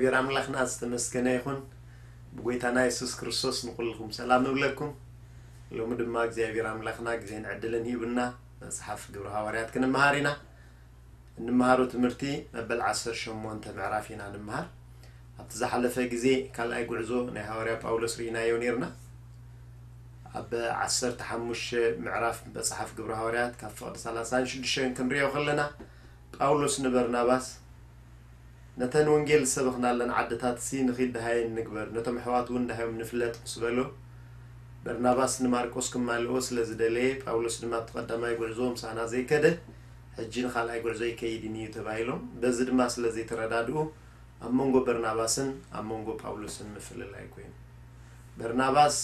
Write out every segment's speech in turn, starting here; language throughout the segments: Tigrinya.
እግዚኣብሔር ኣምላኽና ዝተመስገነ ይኹን። ብጎይታና የሱስ ክርስቶስ ንኹልኹም ሰላም ንብለኩም። ሎሚ ድማ እግዚኣብሔር ኣምላኽና ግዜን ዕድልን ሂቡና መጽሓፍ ግብረ ሃዋርያት ክንመሃር ኢና። እንመሃሮ ትምህርቲ መበል ዓሰርተ ሸሞንተ ምዕራፍ ኢና ንምሃር። ኣብቲ ዝሓለፈ ግዜ ካልኣይ ጉዕዞ ናይ ሃዋርያ ጳውሎስ ርኢናዮ ነይርና። ኣብ ዓሰርተ ሓሙሽተ ምዕራፍ መጽሓፍ ግብረ ሃዋርያት ካብ ፍቕዲ ሰላሳን ሽዱሽተን ክንሪኦ ከለና፣ ጳውሎስ ንበርናባስ፣ ነተን ወንጌል ዝሰበኽናለን ዓድታትሲ ንኺድ ደሃየን ንግበር፣ ነቶም ኣሕዋት እውን ደሃዮም ንፍለጥ ምስ በሎ፣ በርናባስ ንማርቆስ ክማልኦ ስለ ዝደለየ፣ ጳውሎስ ድማ ኣብቲ ቀዳማይ ጉዕዞ ምሳና ዘይከደ፣ ሕጂ ንኻልኣይ ጉዕዞ ኣይከይድን እዩ ተባሂሎም። በዚ ድማ ስለ ዘይተረዳድኡ፣ ኣብ መንጎ በርናባስን ኣብ መንጎ ጳውሎስን ምፍልላይ ኮይኑ። በርናባስ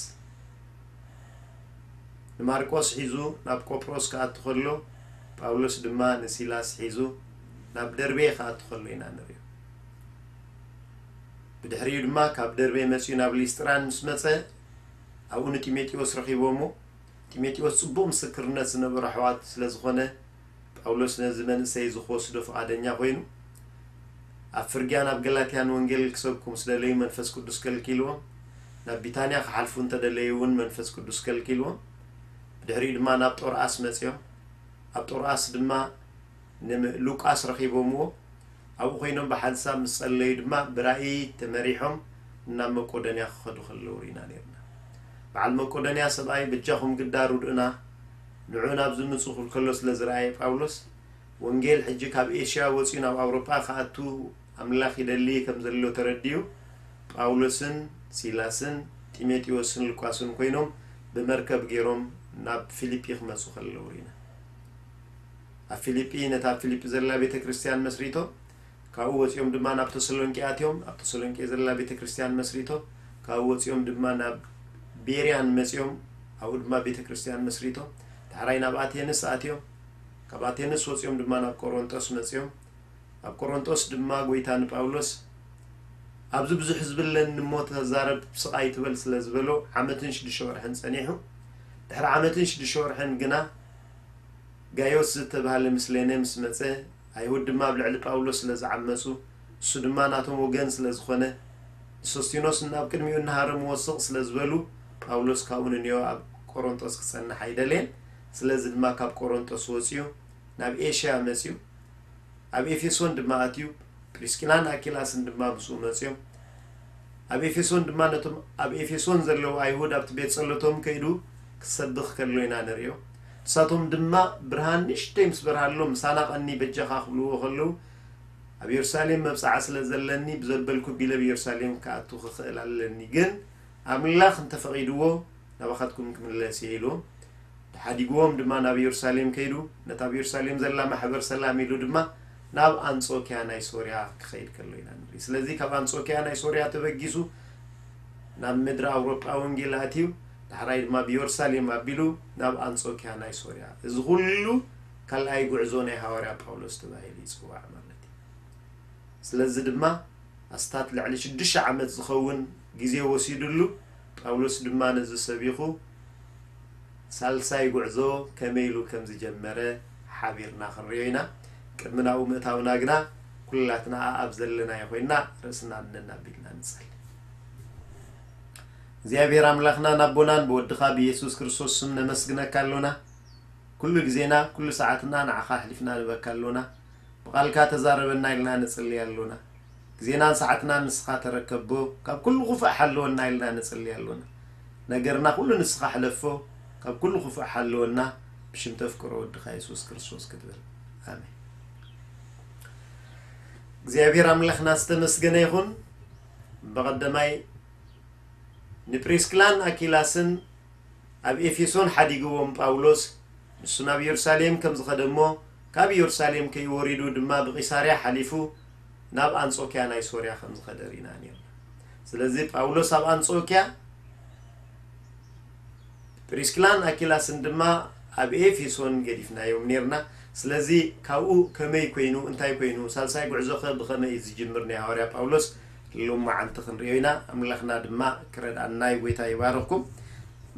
ንማርቆስ ሒዙ ናብ ቆጵሮስ ክኣቱ ከሎ፣ ጳውሎስ ድማ ንሲላስ ሒዙ ናብ ደርቤ ክኣቱ ከሎ ኢና ንርእዮ። ብድሕሪኡ ድማ ካብ ደርቤ መጺኡ ናብ ሊስጥራን ምስ መጸ፣ ኣብኡ ንጢሞቴዎስ ረኺቦሞ። ጢሞቴዎስ ጽቡቕ ምስክርነት ዝነበሮ ኣሕዋት ስለ ዝኾነ፣ ጳውሎስ ነዚ መንእሰይ እዚ ክወስዶ ፍቓደኛ ኮይኑ፣ ኣብ ፍርግያን ኣብ ገላትያን ወንጌል ክሰብኩ ምስ ደለዩ መንፈስ ቅዱስ ከልኪልዎም፣ ናብ ቢታንያ ክሓልፉ እንተደለዩ እውን መንፈስ ቅዱስ ከልኪልዎም። ብድሕሪኡ ድማ ናብ ጦርኣስ መጺኦም። ኣብ ጦርኣስ ድማ ንሉቃስ ረኺቦምዎ። ኣብኡ ኮይኖም ብሓንሳብ ምስ ጸለዩ ድማ ብራእይ ተመሪሖም ናብ መቄዶንያ ክኸዱ ከለዉ ርኢና ነይርና። በዓል መቄዶንያ ሰብኣይ በጃኹም ግዳ ርድኡና፣ ንዑ ናብ ዝምጹ ክብል ከሎ ስለ ዝረኣየ ጳውሎስ፣ ወንጌል ሕጂ ካብ ኤሽያ ወጺኡ ናብ ኣውሮጳ ክኣቱ ኣምላኽ ይደሊ ከም ዘሎ ተረዲኡ፣ ጳውሎስን ሲላስን ጢሞቴዎስን ሉቃስን ኮይኖም ብመርከብ ገይሮም ናብ ፊልጲ ክመጹ ከለዉ ርኢና። ኣብ ፊልጲ ነታ ኣብ ፊልጲ ዘላ ቤተ ክርስቲያን መስሪቶም፣ ካብኡ ወጺኦም ድማ ናብ ተሰሎንቄ ኣትዮም፣ ኣብ ተሰሎንቄ ዘላ ቤተ ክርስቲያን መስሪቶም፣ ካብኡ ወጺኦም ድማ ናብ ቤርያን መጺኦም፣ ኣብኡ ድማ ቤተ ክርስቲያን መስሪቶም፣ ዳሕራይ ናብ ኣቴንስ ኣትዮም፣ ካብ ኣቴንስ ወጺኦም ድማ ናብ ቆሮንጦስ መጺኦም። ኣብ ቆሮንጦስ ድማ ጎይታ ንጳውሎስ፣ ኣብዚ ብዙሕ ህዝቢ ኣለኒ እሞ ተዛረብ፣ ስቕ ኣይትበል ስለ ዝበሎ፣ ዓመትን ሽዱሽተ ወርሕን ጸኒሑ። ድሕሪ ዓመትን ሽዱሽተ ወርሕን ግና ጋዮስ ዝተባህለ ምስሌነ ምስ መጸ፣ ኣይሁድ ድማ ኣብ ልዕሊ ጳውሎስ ስለ ዝዓመጹ፣ እሱ ድማ ናቶም ወገን ስለ ዝኾነ፣ ንሶስቲኖስ ናብ ቅድሚኡ እናሃረምዎ ስቕ ስለ ዝበሉ፣ ጳውሎስ ካብኡ ንንዮ ኣብ ቆሮንጦስ ክጸንሕ ኣይደለየን። ስለዚ ድማ ካብ ቆሮንጦስ ወጺኡ ናብ ኤሽያ መጺኡ። ኣብ ኤፌሶን ድማ ኣትዩ፣ ፕሪስኪላን ኣኪላስን ድማ ምስኡ መጺኦም። ኣብ ኤፌሶን ድማ ነቶም ኣብ ኤፌሶን ዘለዉ ኣይሁድ ኣብቲ ቤት ጸሎቶም ከይዱ ክሰብኽ ከሎ ኢና ንርእዮ። ንሳቶም ድማ ብርሃን ንእሽተይ ምስ በርሃሎም፣ "ምሳና ቀኒ በጃኻ" ክብልዎ ከለዉ፣ "ኣብ የሩሳሌም መብጽዓ ስለ ዘለኒ ብዘበልኩ ቢለ ኣብ የሩሳሌም ክኣቱ ክኽእል ኣለኒ፣ ግን ኣምላኽ እንተፈቒድዎ ናባኻትኩም ክምለስ እየ" ኢልዎም። ሓዲግዎም ድማ ናብ የሩሳሌም ከይዱ፣ ነታ ኣብ የሩሳሌም ዘላ ማሕበር ሰላም ኢሉ ድማ ናብ ኣንጾክያ ናይ ሶርያ ክኸይድ ከሎ ኢና ንርኢ። ስለዚ ካብ ኣንጾክያ ናይ ሶርያ ተበጊሱ ናብ ምድሪ ኣውሮጳ ወንጌል ኣትዩ፣ ዳሕራይ ድማ ብየሩሳሌም ኣቢሉ ናብ ኣንጾክያ ናይ ሶርያ። እዚ ኩሉ ካልኣይ ጉዕዞ ናይ ሃዋርያ ጳውሎስ ተባሂሉ ይጽዋዕ ማለት እዩ። ስለዚ ድማ ኣስታት ልዕሊ ሽዱሽተ ዓመት ዝኸውን ግዜ ወሲዱሉ። ጳውሎስ ድማ ነዚ ሰቢኹ ሳልሳይ ጉዕዞ ከመይ ኢሉ ከም ዝጀመረ ሓቢርና ክንሪኦ ኢና። ቅድሚ ናብኡ ምእታውና ግና ኩላትና ኣብ ዘለናዮ ኮይንና ርእስና እነን ኣቢልና ንጸሊ። እግዚኣብሔር ኣምላኽናን ኣቦናን ብወድኻ ብኢየሱስ ክርስቶስ ስም ነመስግነካ ኣሎና። ኩሉ ግዜና፣ ኩሉ ሰዓትና ንዓኻ ኣሕሊፍና ንበካ ኣሎና። ብቓልካ ተዛረበና ኢልና ንጽሊ ኣሎና። ግዜናን ሰዓትናን ንስኻ ተረከቦ፣ ካብ ኩሉ ክፉእ ሓልወና ኢልና ንጽሊ ኣሎና። ነገርና ኩሉ ንስኻ ሕለፎ፣ ካብ ኩሉ ክፉእ ሓልወና፣ ብሽም ተፍቅሮ ወድኻ የሱስ ክርስቶስ ክትብል። ኣሜን። እግዚኣብሔር ኣምላኽና ዝተመስገነ ይኹን። ብቐደማይ ንፕሪስክላን ኣኪላስን ኣብ ኤፌሶን ሓዲግዎም ጳውሎስ፣ ንሱ ናብ የሩሳሌም ከም ዝኸደ እሞ፣ ካብ የሩሳሌም ከይወሪዱ ድማ ብቂሳርያ ሓሊፉ ናብ ኣንጾክያ ናይ ሶርያ ከም ዝኸደ ርኢና ነርና። ስለዚ ጳውሎስ ኣብ ኣንጾክያ፣ ፕሪስክላን ኣኪላስን ድማ ኣብ ኤፌሶን ገዲፍናዮም ነርና። ስለዚ ካብኡ ከመይ ኮይኑ፣ እንታይ ኮይኑ፣ ሳልሳይ ጉዕዞኸ ብኸመይ እዩ ዝጅምር ናይ ሃዋርያ ጳውሎስ፣ ሎማዓንቲ ክንሪኦ ኢና። ኣምላኽና ድማ ክረድኣና እዩ። ጎይታ ይባርኽኩም።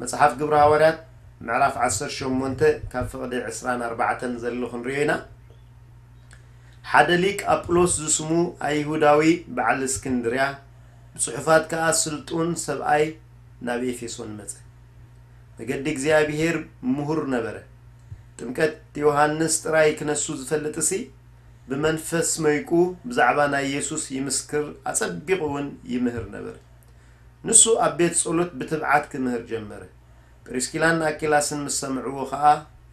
መጽሓፍ ግብሪ ሃዋርያት ምዕራፍ ዓሰርተ ሸሞንተ ካብ ፍቕዲ ዕስራን ኣርባዕተን ዘሎ ክንሪኦ ኢና። ሓደ ሊቅ ኣጵሎስ ዝስሙ ኣይሁዳዊ በዓል እስክንድርያ፣ ብጽሑፋት ከኣ ስልጡን ሰብኣይ ናብ ኤፌሶን መጸ። መገዲ እግዚኣብሔር ምሁር ነበረ። ጥምቀት ዮሃንስ ጥራይ ክነሱ ዝፈልጥሲ፣ ብመንፈስ መይቁ ብዛዕባ ናይ የሱስ ይምስክር፣ ኣጸቢቑ እውን ይምህር ነበረ። ንሱ ኣብ ቤት ጸሎት ብትብዓት ክምህር ጀመረ። ጵሪስኪላን ኣኪላስን ምስ ሰምዕዎ ኸኣ፣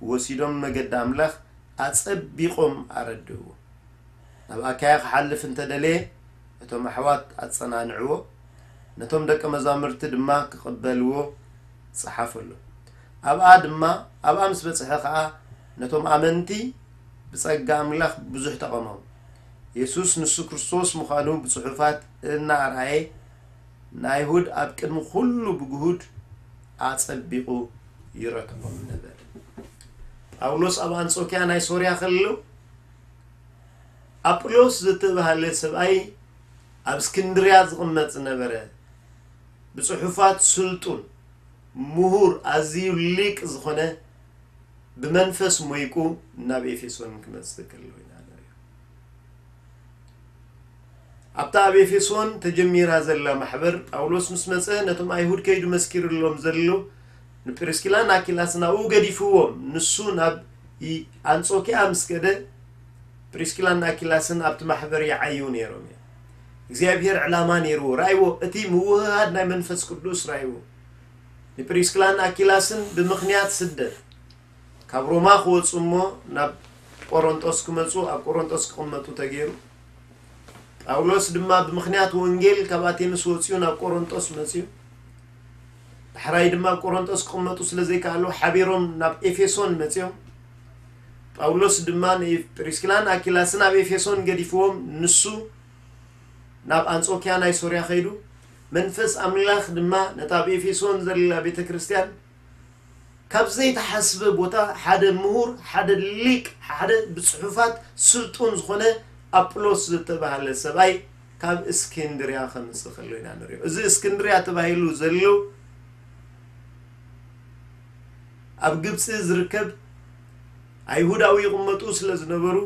ወሲዶም መገዲ ኣምላኽ ኣጸቢቖም ኣረድእዎ። ናብ ኣካያ ክሓልፍ እንተ ደለየ፣ እቶም ኣሕዋት ኣጸናንዕዎ፣ ነቶም ደቀ መዛሙርቲ ድማ ክቕበልዎ ጸሓፈሎም። ኣብኣ ድማ፣ ኣብኣ ምስ በጽሐ ኸኣ፣ ነቶም ኣመንቲ ብጸጋ ኣምላኽ ብዙሕ ተቐመሙ። የሱስ ንሱ ክርስቶስ ምዃኑ ብጽሑፋት እናኣርኣየ፣ ንኣይሁድ ኣብ ቅድሚ ኩሉ ብግሁድ ኣጸቢቑ ይረትዖም ነበረ። ጳውሎስ ኣብ ኣንጾክያ ናይ ሶርያ ከሎ፣ ኣጵሎስ ዝተባህለ ሰብኣይ ኣብ እስክንድርያ ዝቕመጥ ዝነበረ፣ ብጽሑፋት ስልጡን፣ ምሁር፣ ኣዝዩ ሊቅ ዝኾነ፣ ብመንፈስ ሞይቁ ናብ ኤፌሶን ክመጽእ ከሎ ኢና ንሪኦ። ኣብታ ኣብ ኤፌሶን ተጀሚራ ዘላ ማሕበር፣ ጳውሎስ ምስ መጸ፣ ነቶም ኣይሁድ ከይዱ መስኪሩሎም ዘሎ ንፕሪስኪላን ኣኪላስን ኣብኡ ገዲፍዎም። ንሱ ናብ ይ-፣ ኣንጾኪያ ምስ ከደ፣ ፕሪስኪላን ኣኪላስን ኣብቲ ማሕበር ይዓዩ ነይሮም እዮም። እግዚኣብሔር ዕላማ ነይርዎ። ራእይዎ፣ እቲ ምውህሃድ ናይ መንፈስ ቅዱስ ራእይዎ። ንፕሪስኪላን ኣኪላስን ብምኽንያት ስደት ካብ ሮማ ክወጹ እሞ ናብ ቆሮንጦስ ክመጹ፣ ኣብ ቆሮንጦስ ክቕመጡ ተገይሩ። ጳውሎስ ድማ ብምኽንያት ወንጌል ካብ ኣቴንስ ወጺኡ ናብ ቆሮንጦስ መጺኡ። ዳሕራይ ድማ ኣብ ቆሮንጦስ ክቕመጡ ስለ ዘይከኣሉ ሓቢሮም ናብ ኤፌሶን መጺኦም። ጳውሎስ ድማ ንፕሪስኪላን ኣኪላስን ኣብ ኤፌሶን ገዲፍዎም፣ ንሱ ናብ ኣንጾክያ ናይ ሶርያ ከይዱ። መንፈስ ኣምላኽ ድማ ነታ ኣብ ኤፌሶን ዘላ ቤተ ክርስቲያን ካብ ዘይተሓስበ ቦታ ሓደ ምሁር፣ ሓደ ሊቅ፣ ሓደ ብጽሑፋት ስልጡን ዝኾነ ኣጵሎስ ዝተባህለ ሰብኣይ ካብ እስክንድርያ ከምጽእ ከሎ ኢና ንሪኦ። እዚ እስክንድርያ ተባሂሉ ዘሎ ኣብ ግብጺ ዝርከብ ኣይሁዳዊ ይቕመጡ ስለ ዝነበሩ፣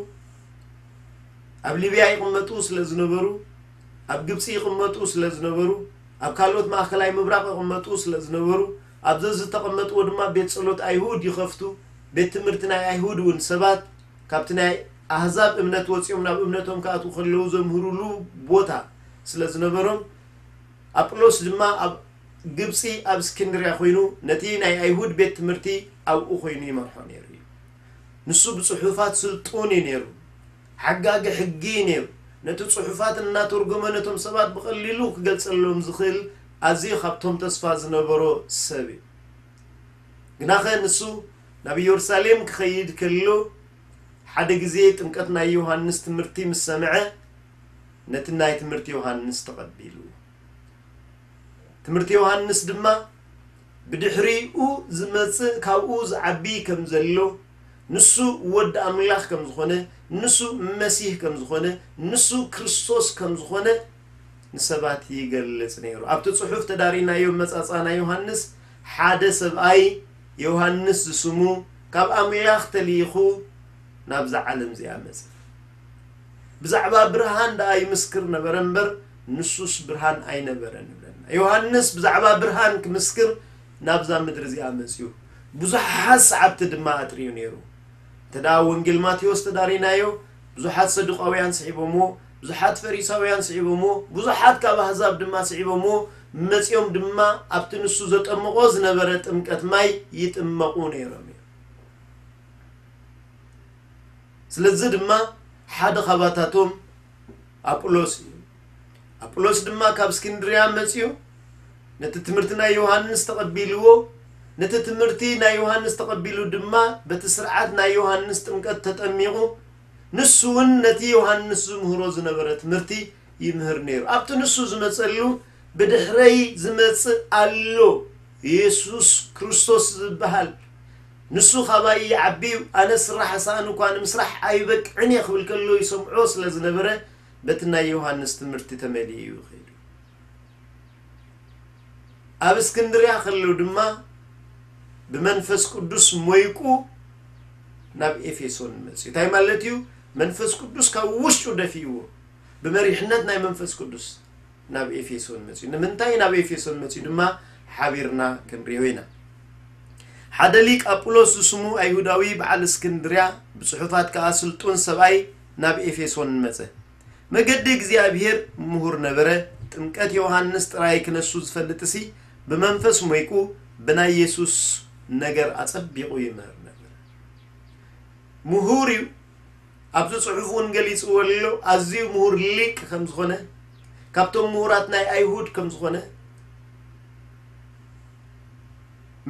ኣብ ሊብያ ይቕመጡ ስለ ዝነበሩ፣ ኣብ ግብጺ ይቕመጡ ስለ ዝነበሩ፣ ኣብ ካልኦት ማእከላይ ምብራቕ ይቕመጡ ስለ ዝነበሩ፣ ኣብ ዘዝተቐመጥዎ ድማ ቤት ጸሎት ኣይሁድ ይኸፍቱ፣ ቤት ትምህርቲ ናይ ኣይሁድ እውን ሰባት ካብቲ ናይ ኣህዛብ እምነት ወጺኦም ናብ እምነቶም ክኣትዉ ከለዉ ዘምህሩሉ ቦታ ስለ ዝነበሮም፣ ኣጵሎስ ድማ ኣብ ግብጺ ኣብ እስክንድርያ ኮይኑ ነቲ ናይ ኣይሁድ ቤት ትምህርቲ ኣብኡ ኮይኑ ይመርሖ ነይሩ እዩ። ንሱ ብጽሑፋት ስልጡን እዩ ነይሩ። ሓጋጊ ሕጊ እዩ ነይሩ። ነቲ ጽሑፋት እናተርጎመ ነቶም ሰባት ብቐሊሉ ክገልጸሎም ዝኽእል ኣዝዩ ካብቶም ተስፋ ዝነበሮ ሰብ እዩ። ግናኸ ንሱ ናብ ኢየሩሳሌም ክኸይድ ከሎ ሓደ ግዜ ጥምቀት ናይ ዮሃንስ ትምህርቲ ምስ ሰምዐ ነቲ ናይ ትምህርቲ ዮሃንስ ተቐቢሉ። ትምህርቲ ዮሃንስ ድማ ብድሕሪኡ ዝመጽእ ካብኡ ዝዓቢ ከም ዘሎ፣ ንሱ ወዲ ኣምላኽ ከም ዝኾነ፣ ንሱ መሲህ ከም ዝኾነ፣ ንሱ ክርስቶስ ከም ዝኾነ ንሰባት ይገልጽ ነይሩ። ኣብቲ ጽሑፍ ተዳሪናዮ መጻጻ ናይ ዮሃንስ ሓደ ሰብኣይ ዮሃንስ ዝስሙ ካብ ኣምላኽ ተልኢኹ ናብዛ ዓለም እዚኣ መጸ። ብዛዕባ ብርሃን ደኣ ይምስክር ነበረ እምበር፣ ንሱስ ብርሃን ኣይነበረን ይብለና። ዮሃንስ ብዛዕባ ብርሃን ክምስክር ናብዛ ምድሪ እዚኣ መጺኡ። ብዙሓት ሰዓብቲ ድማ ኣጥርዩ ነይሩ። እንተ ደኣ ወንጌል ማቴዎስ ተዳሪናዮ፣ ብዙሓት ሰዱቃውያን ስዒቦምዎ፣ ብዙሓት ፈሪሳውያን ስዒቦምዎ፣ ብዙሓት ካብ ኣህዛብ ድማ ስዒቦምዎ፣ መጺኦም ድማ ኣብቲ ንሱ ዘጠምቖ ዝነበረ ጥምቀት ማይ ይጥመቑ ነይሮም እዮም። ስለዚ ድማ ሓደ ኻባታቶም ኣጵሎስ እዩ። ኣጵሎስ ድማ ካብ እስክንድርያ መጺኡ ነቲ ትምህርቲ ናይ ዮሃንስ ተቐቢልዎ፣ ነቲ ትምህርቲ ናይ ዮሃንስ ተቐቢሉ ድማ በቲ ስርዓት ናይ ዮሃንስ ጥምቀት ተጠሚቑ፣ ንሱ እውን ነቲ ዮሃንስ ዝምህሮ ዝነበረ ትምህርቲ ይምህር ነይሩ። ኣብቲ ንሱ ዝመጸሉ፣ ብድሕረይ ዝመጽእ ኣሎ፣ የሱስ ክርስቶስ ዝበሃል፣ ንሱ ኻባይ ይዓቢ እዩ፣ ኣነ ስራሕ ኣሳእኑ እኳ ንምስራሕ ኣይበቅዕን እየ ክብል ከሎ ይሰምዖ ስለ ዝነበረ፣ በቲ ናይ ዮሃንስ ትምህርቲ ተመሊኡ እዩ ከይዱ። ኣብ እስክንድርያ ከሎ ድማ ብመንፈስ ቅዱስ ሞይቁ ናብ ኤፌሶን መጽኡ። እንታይ ማለት እዩ? መንፈስ ቅዱስ ካብ ውሽጡ ደፊእዎ፣ ብመሪሕነት ናይ መንፈስ ቅዱስ ናብ ኤፌሶን መጺኡ። ንምንታይ ናብ ኤፌሶን መጺኡ ድማ ሓቢርና ክንሪኦ ኢና። ሓደ ሊቅ ኣጵሎስ ዝስሙ ኣይሁዳዊ በዓል እስክንድርያ፣ ብጽሑፋት ከኣ ስልጡን ሰብኣይ ናብ ኤፌሶን መጸ። መገዲ እግዚኣብሔር ምሁር ነበረ። ጥምቀት ዮሃንስ ጥራይ ክነሱ ዝፈልጥሲ፣ ብመንፈስ ሞይቁ ብናይ የሱስ ነገር ኣጸቢቑ ይምህር ነበረ። ምሁር እዩ። ኣብዚ ጽሑፍ እውን ገሊጽዎ ኣሎ፣ ኣዝዩ ምሁር ሊቅ ከም ዝኾነ፣ ካብቶም ምሁራት ናይ ኣይሁድ ከም ዝኾነ፣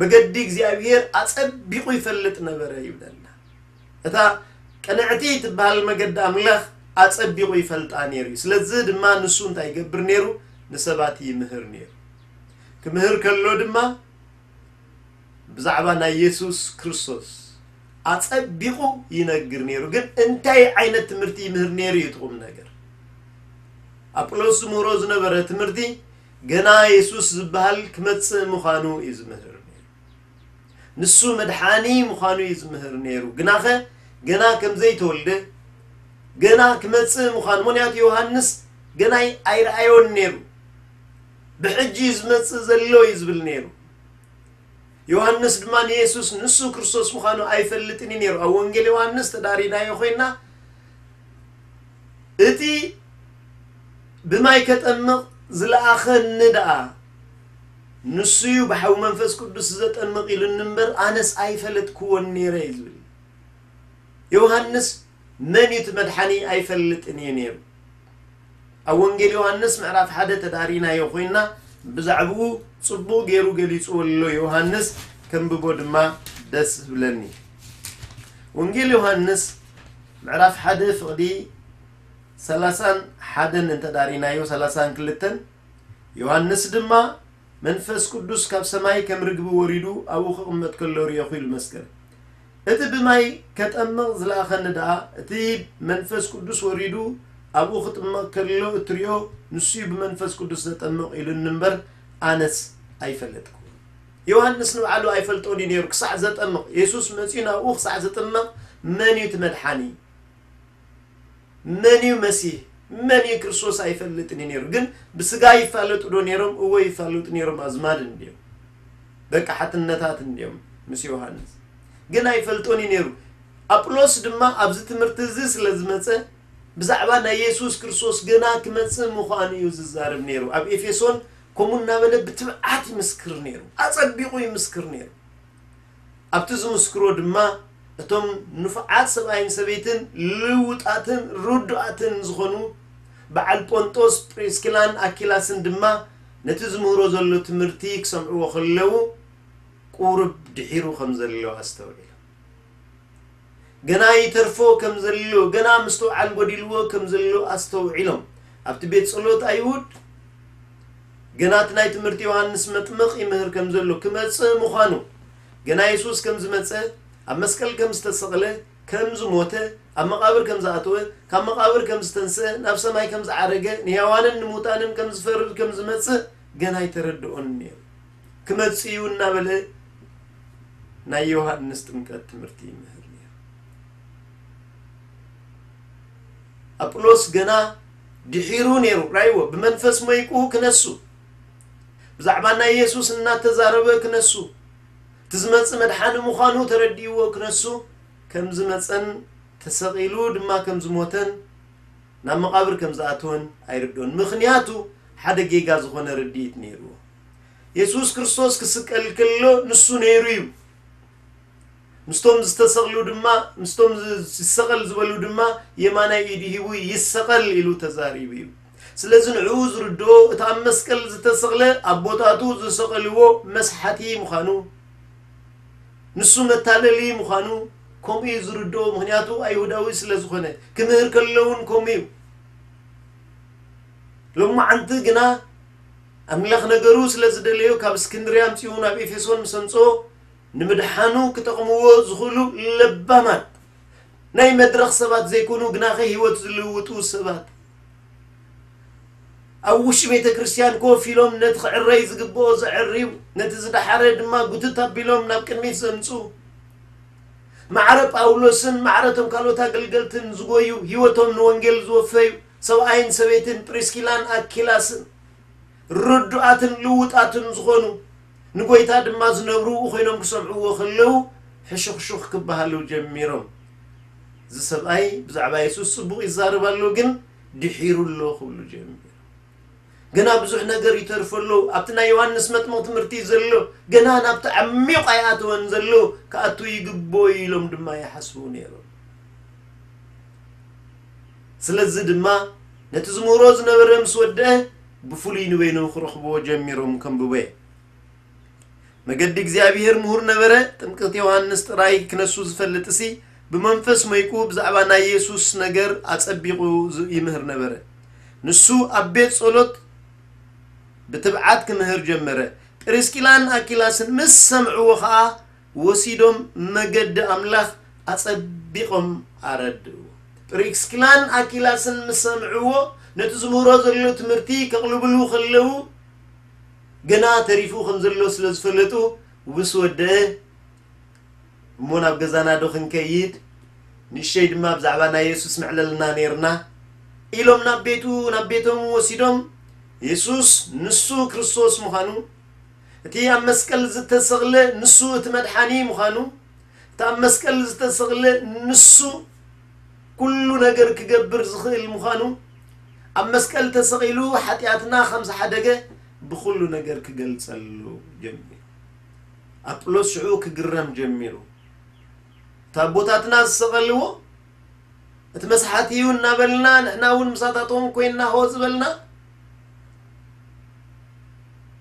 መገዲ እግዚኣብሔር ኣጸቢቑ ይፈልጥ ነበረ ይብለና። እታ ቅንዕቲ ትበሃል መገዲ ኣምላኽ ኣጸቢቑ ይፈልጣ ነይሩ እዩ። ስለዚ ድማ ንሱ እንታይ ይገብር ነይሩ? ንሰባት ይምህር ነይሩ። ክምህር ከሎ ድማ ብዛዕባ ናይ የሱስ ክርስቶስ ኣጸቢቑ ይነግር ነይሩ። ግን እንታይ ዓይነት ትምህርቲ ይምህር ነይሩ እዩ እቲ ቁም ነገር። ኣጵሎስ ዝምህሮ ዝነበረ ትምህርቲ ገና የሱስ ዝበሃል ክመጽእ ምዃኑ እዩ ዝምህር ነይሩ። ንሱ መድሓኒ ምዃኑ እዩ ዝምህር ነይሩ። ግናኸ ገና ከም ዘይተወልደ፣ ገና ክመጽእ ምዃኑ፣ ምኽንያቱ ዮሃንስ ገና ኣይረኣዮን ነይሩ። ብሕጂ እዩ ዝመጽእ ዘሎ እዩ ዝብል ነይሩ። ዮሃንስ ድማ ንየሱስ ንሱ ክርስቶስ ምዃኑ ኣይፈልጥን እዩ ነይሩ። ኣብ ወንጌል ዮሃንስ ተዳሪናዮ ኮይና፣ እቲ ብማይ ከጠምቕ ዝለኣኸኒ ደኣ ንሱ እዩ ብሓዊ መንፈስ ቅዱስ ዘጠምቕ ኢሉኒ እምበር፣ ኣነስ ኣይፈለጥክዎን ነይረ እዩ ዝብል። ዮሃንስ መን እዩ እቲ መድሓኒ ኣይፈልጥን እዩ ነይሩ። ኣብ ወንጌል ዮሃንስ ምዕራፍ ሓደ ተዳሪናዮ ኮይና፣ ብዛዕባኡ ጽቡቕ ገይሩ ገሊጽዎ ኣሎ ዮሃንስ፣ ከንብቦ ድማ ደስ ዝብለኒ። ወንጌል ዮሃንስ ምዕራፍ ሓደ ፍቕዲ ሰላሳን ሓደን እንተዳሪናዮ፣ ሰላሳን ክልተን፣ ዮሃንስ ድማ መንፈስ ቅዱስ ካብ ሰማይ ከም ርግቢ ወሪዱ ኣብኡ ክቕመጥ ከሎ ርኤኹ ኢሉ መስከረ። እቲ ብማይ ከጠምቕ ዝለኣኸኒ ደኣ፣ እቲ መንፈስ ቅዱስ ወሪዱ ኣብኡ ክጥመቕ ከሎ እትሪኦ፣ ንሱ እዩ ብመንፈስ ቅዱስ ዘጠምቕ ኢሉኒ እምበር፣ ኣነስ ኣይፈለጥኩ። ዮሃንስ ንባዕሉ ኣይፈልጦን እዩ ነይሩ ክሳዕ ዘጠምቕ። የሱስ መጺኡ ናብኡ ክሳዕ ዝጥመቕ፣ መን እዩ እቲ መድሓኒ? መን እዩ መሲህ? መን እዩ ክርስቶስ? ኣይፈልጥን እዩ ነይሩ። ግን ብስጋ ይፋለጡ ዶ ነይሮም? እወ ይፋለጡ ነይሮም። ኣዝማድ እንድዮም፣ ደቂ ሓትነታት እንድዮም ምስ ዮሃንስ። ግን ኣይፈልጦን እዩ ነይሩ። ኣጵሎስ ድማ ኣብዚ ትምህርቲ እዚ ስለ ዝመጸ፣ ብዛዕባ ናይ የሱስ ክርስቶስ ገና ክመጽእ ምዃኑ እዩ ዝዛረብ ነይሩ። ኣብ ኤፌሶን ከምኡ እናበለ ብትብዓት ይምስክር ነይሩ። ኣጸቢቑ ይምስክር ነይሩ። ኣብቲ ዝምስክሮ ድማ እቶም ንፉዓት ሰብኣይን ሰበይትን ልውጣትን ርዱኣትን ዝኾኑ በዓል ጶንጦስ፣ ጵሪስኪላን ኣኪላስን ድማ ነቲ ዝምህሮ ዘሎ ትምህርቲ ክሰምዕዎ ከለዉ ቁሩብ ድሒሩ ከም ዘሎ ኣስተውዒሎም። ገና ይተርፎ ከም ዘሎ፣ ገና ምስትውዓል ጎዲልዎ ከም ዘሎ ኣስተውዒሎም። ኣብቲ ቤት ጸሎት ኣይሁድ ገና እቲ ናይ ትምህርቲ ዮሃንስ መጥምቕ ይምህር ከም ዘሎ፣ ክመጽእ ምዃኑ፣ ገና የሱስ ከም ዝመጸ፣ ኣብ መስቀል ከም ዝተሰቕለ፣ ከም ዝሞተ፣ ኣብ መቓብር ከም ዝኣተወ፣ ካብ መቓብር ከም ዝተንስአ፣ ናብ ሰማይ ከም ዝዓረገ፣ ንሕያዋንን ንሙታንን ከም ዝፈርድ ከም ዝመጽእ ገና ኣይተረድኦን ነይሩ። ክመጽእ እዩ እናበለ ናይ ዮሃንስ ጥምቀት ትምህርቲ ይምህር ነይሩ። ኣጵሎስ ገና ድሒሩ ነይሩ፣ ራይዎ ብመንፈስ ሞይቁ ክነሱ፣ ብዛዕባ ናይ የሱስ እናተዛረበ ክነሱ፣ እቲ ዝመጽእ መድሓኒ ምዃኑ ተረዲእዎ ክነሱ፣ ከም ዝመጸን ተሰቒሉ ድማ ከም ዝሞተን ናብ መቓብር ከም ዝኣተወን ኣይርድኦን። ምኽንያቱ ሓደ ጌጋ ዝኾነ ርድኢት ነይርዎ። የሱስ ክርስቶስ ክስቀል ከሎ ንሱ ነይሩ እዩ። ምስቶም ዝተሰቕሉ ድማ፣ ምስቶም ዝ-፣ ዝሰቐል ዝበሉ ድማ የማናይ ኢዱ ሂቡ ይሰቐል ኢሉ ተዛሪቡ እዩ። ስለዚ ንዕኡ ዝርድኦ እቲ ኣብ መስቀል ዝተሰቕለ ኣቦታቱ ዝሰቐልዎ መስሓቲ ምዃኑ፣ ንሱ መታለሊ ምዃኑ ከምኡ እዩ ዝርድኦ። ምኽንያቱ ኣይሁዳዊ ስለ ዝኾነ፣ ክምህር ከሎ እውን ከምኡ እዩ። ሎማዓንቲ ግና ኣምላኽ ነገሩ ስለ ዝደለዮ ካብ እስክንድርያ ኣምጺኡ ናብ ኤፌሶን ምስ ኣምጽኦ ንምድሓኑ ክጠቕምዎ ዝኽእሉ ለባማት ናይ መድረኽ ሰባት ዘይኮኑ ግናኸ ህይወት ዝልውጡ ሰባት ኣብ ውሽጢ ቤተ ክርስቲያን ኮፍ ኢሎም ነቲ ክዕረይ ዝግብኦ ዘዕርዩ፣ ነቲ ዝደሓረ ድማ ጉትት ኣቢሎም ናብ ቅድሚት ዘምጽኡ፣ ማዕረ ጳውሎስን ማዕረ እቶም ካልኦት ኣገልገልትን ዝጎዩ፣ ህይወቶም ንወንጌል ዝወፈዩ ሰብኣይን ሰበይትን ፕሪስኪላን ኣኪላስን ርዱኣትን ልውጣትን ዝኾኑ፣ ንጎይታ ድማ ዝነብሩ ብኡ ኮይኖም ክሰምዕዎ ከለዉ ሕሹኽሹኽ ክበሃሉ ጀሚሮም። እዚ ሰብኣይ ብዛዕባ የሱስ ጽቡቕ ይዛረብ ኣሎ፣ ግን ድሒሩ ኣሎ ክብሉ ጀሚሮም። ገና ብዙሕ ነገር ይተርፎ ኣሎ። ኣብቲ ናይ ዮሃንስ መጥምቕ ትምህርቲ ዘሎ፣ ገና ናብቲ ዓሚቕ ኣይኣተወን ዘሎ፣ ክኣቱ ይግብኦ እዩ ኢሎም ድማ ይሓስቡ ነይሮም። ስለዚ ድማ ነቲ ዝምህሮ ዝነበረ ምስ ወደአ፣ ብፍሉይ ንበይኑ ክረኽብዎ ጀሚሮም ከንብቦ እየ። መገዲ እግዚኣብሔር ምሁር ነበረ። ጥምቀት ዮሃንስ ጥራይ ክነሱ ዝፈልጥሲ፣ ብመንፈስ መይቁ ብዛዕባ ናይ የሱስ ነገር ኣጸቢቑ ዝ-፣ ይምህር ነበረ። ንሱ ኣብ ቤት ጸሎት ብትብዓት ክምህር ጀመረ። ጵሪስኪላን ኣኪላስን ምስ ሰምዕዎ ኸኣ፣ ወሲዶም መገዲ ኣምላኽ ኣጸቢቖም ኣረድእዎ። ፕሪስኪላን ኣኪላስን ምስ ሰምዕዎ፣ ነቲ ዝምህሮ ዘሎ ትምህርቲ ከቕልብሉ ከለዉ፣ ገና ተሪፉ ከም ዘሎ ስለ ዝፈለጡ፣ ምስ ወደአ፣ "እሞ ናብ ገዛና ዶ ክንከይድ? ንእሸይ ድማ ብዛዕባ ናይ የሱስ ምዕለልና ነይርና" ኢሎም ናብ ቤቱ፣ ናብ ቤቶም ወሲዶም፣ የሱስ ንሱ ክርስቶስ ምዃኑ፣ እቲ ኣብ መስቀል ዝተሰቕለ ንሱ እቲ መድሓኒ ምዃኑ፣ እቲ ኣብ መስቀል ዝተሰቕለ ንሱ ኩሉ ነገር ክገብር ዝኽእል ምዃኑ፣ ኣብ መስቀል ተሰቒሉ ሓጢኣትና ከም ዝሓደገ ብኹሉ ነገር ክገልጸሉ ጀሚሩ። ኣጵሎስ ሽዑ ክግረም ጀሚሩ። "እቲ ኣቦታትና ዝሰቐልዎ፣ እቲ መስሓት እዩ" እናበልና፣ ንሕና እውን ምሳታቶም ኮይንና ሆ ዝበልና።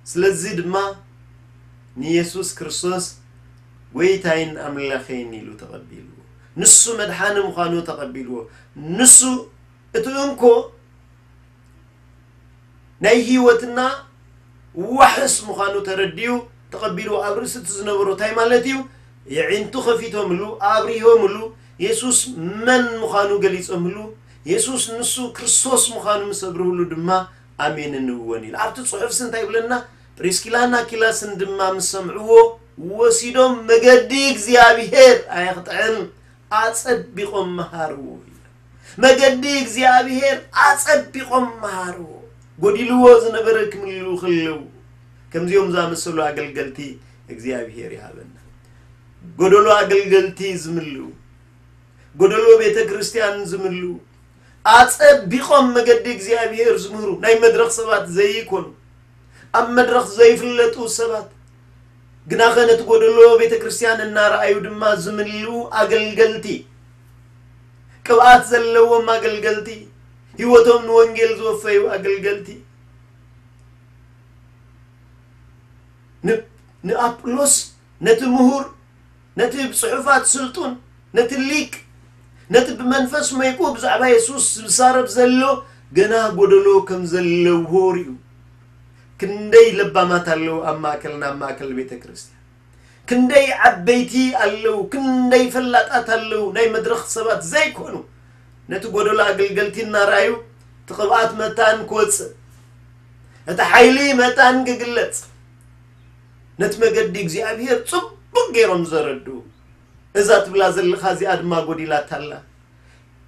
ስለዚ ድማ ንየሱስ ክርስቶስ "ጎይታይን ኣምላኸይን" ኢሉ ተቐቢልዎ። ንሱ መድሓኒ ምዃኑ ተቐቢልዎ። ንሱ እቲ እንኮ ናይ ህይወትና ዋሕስ ምዃኑ ተረዲኡ ተቐቢልዎ። ኣብ ርእሲ እቲ ዝነበሮ እንታይ ማለት እዩ? የዒንቱ ከፊቶምሉ፣ ኣብሪሆምሉ፣ የሱስ መን ምዃኑ ገሊጾምሉ፣ የሱስ ንሱ ክርስቶስ ምዃኑ ምስ ኣብርህሉ ድማ ኣሜንን እወን ኢሉ። ኣብቲ ጽሑፍሲ እንታይ ይብለና? "ፕሪስኪላን ኣኪላስን ድማ ምስ ሰምዕዎ፣ ወሲዶም መገዲ እግዚኣብሔር ኣየኽጥዕን ኣጸቢቖም መሃርዎ" ኢሉ። መገዲ እግዚኣብሔር ኣጸቢቖም መሃርዎ። ጎዲልዎ ዝነበረ ክምልኡ ከለዉ፣ ከምዚኦም ዝኣመሰሉ ኣገልገልቲ እግዚኣብሔር ይሃበና። ጎደሎ ኣገልገልቲ ዝምልኡ፣ ጎደሎ ቤተ ክርስቲያን ዝምልኡ፣ ኣጸቢቖም መገዲ እግዚኣብሔር ዝምህሩ፣ ናይ መድረኽ ሰባት ዘይኮኑ፣ ኣብ መድረኽ ዘይፍለጡ ሰባት፣ ግናኸ ነቲ ጎደሎ ቤተ ክርስቲያን እናረኣዩ ድማ ዝምልኡ ኣገልገልቲ፣ ቅብኣት ዘለዎም ኣገልገልቲ፣ ህይወቶም ንወንጌል ዝወፈዩ ኣገልገልቲ፣ ን-፣ ንኣጵሎስ፣ ነቲ ምሁር፣ ነቲ ብጽሑፋት ስልጡን፣ ነቲ ሊቅ፣ ነቲ ብመንፈስ መይቁ ብዛዕባ የሱስ ዝዛረብ ዘሎ ገና ጎደሎ ከም ዘለዎ ርእዩ። ክንደይ ለባማት ኣለዉ ኣብ ማእከልና፣ ኣብ ማእከል ቤተ ክርስቲያን። ክንደይ ዓበይቲ ኣለዉ፣ ክንደይ ፈላጣት ኣለዉ፣ ናይ መድረኽ ሰባት ዘይኮኑ። ነቲ ጎደሎ ኣገልገልቲ እናረኣዩ፣ እቲ ቅብኣት መታን ክወጽእ፣ እቲ ሓይሊ መታን ክግለጽ፣ ነቲ መገዲ እግዚኣብሔር ጽቡቕ ገይሮም ዘረድኡ። "እዛ ትብላ ዘለኻ እዚኣ ድማ ጎዲላታ ኣላ፣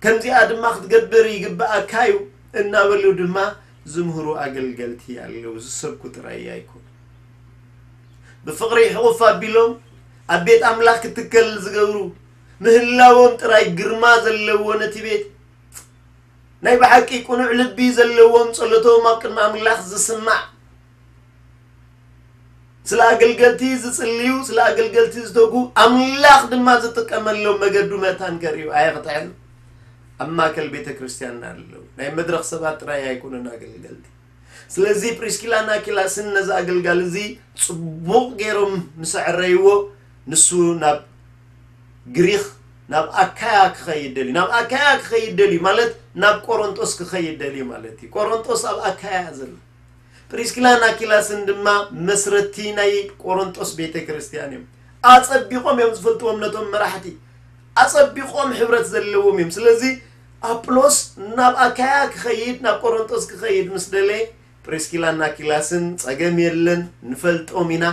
ከምዚኣ ድማ ክትገብር ይግብኣካ እዩ" እናበሉ ድማ ዝምህሩ ኣገልገልቲ ኣለዉ። ዝሰብኩ ጥራይ ኣይኮኑ። ብፍቕሪ ሕቑፍ ኣቢሎም ኣብ ቤት ኣምላኽ ክትከል ዝገብሩ፣ ምህላዎም ጥራይ ግርማ ዘለዎ ነቲ ቤት፣ ናይ ብሓቂ ቅኑዕ ልቢ ዘለዎም፣ ጸሎቶም ኣብ ቅድሚ ኣምላኽ ዝስማዕ፣ ስለ ኣገልገልቲ ዝጽልዩ፣ ስለ ኣገልገልቲ ዝተጉ፣ ኣምላኽ ድማ ዝጥቀመሎም መገዱ መታን ከርእዩ ኣየኽጥዕን። ኣብ ማእከል ቤተ ክርስቲያንና ኣለዉ። ናይ መድረኽ ሰባት ጥራይ ኣይኮኑን ኣገልገልቲ። ስለዚ ፕሪስኪላን ኣኪላስን ነዚ ኣገልጋሊ እዚ ጽቡቕ ገይሮም ምስ ኣዕረይዎ፣ ንሱ ናብ ግሪኽ፣ ናብ ኣካያ ክኸይድ ደልዩ። ናብ ኣካያ ክኸይድ ደልዩ ማለት ናብ ቆሮንጦስ ክኸይድ ደልዩ ማለት እዩ። ቆሮንጦስ ኣብ ኣካያ እያ ዘላ። ፕሪስኪላን ኣኪላስን ድማ መስረቲ ናይ ቆሮንጦስ ቤተ ክርስቲያን እዮም። ኣጸቢቖም እዮም ዝፈልጥዎም ነቶም መራሕቲ። ኣጸቢቖም ሕብረት ዘለዎም እዮም። ስለዚ ኣጵሎስ ናብ ኣካያ ክኸይድ፣ ናብ ቆሮንጦስ ክኸይድ ምስ ደለየ፣ ፕሪስኪላን ኣኪላስን "ጸገም የለን፣ ንፈልጦም ኢና፣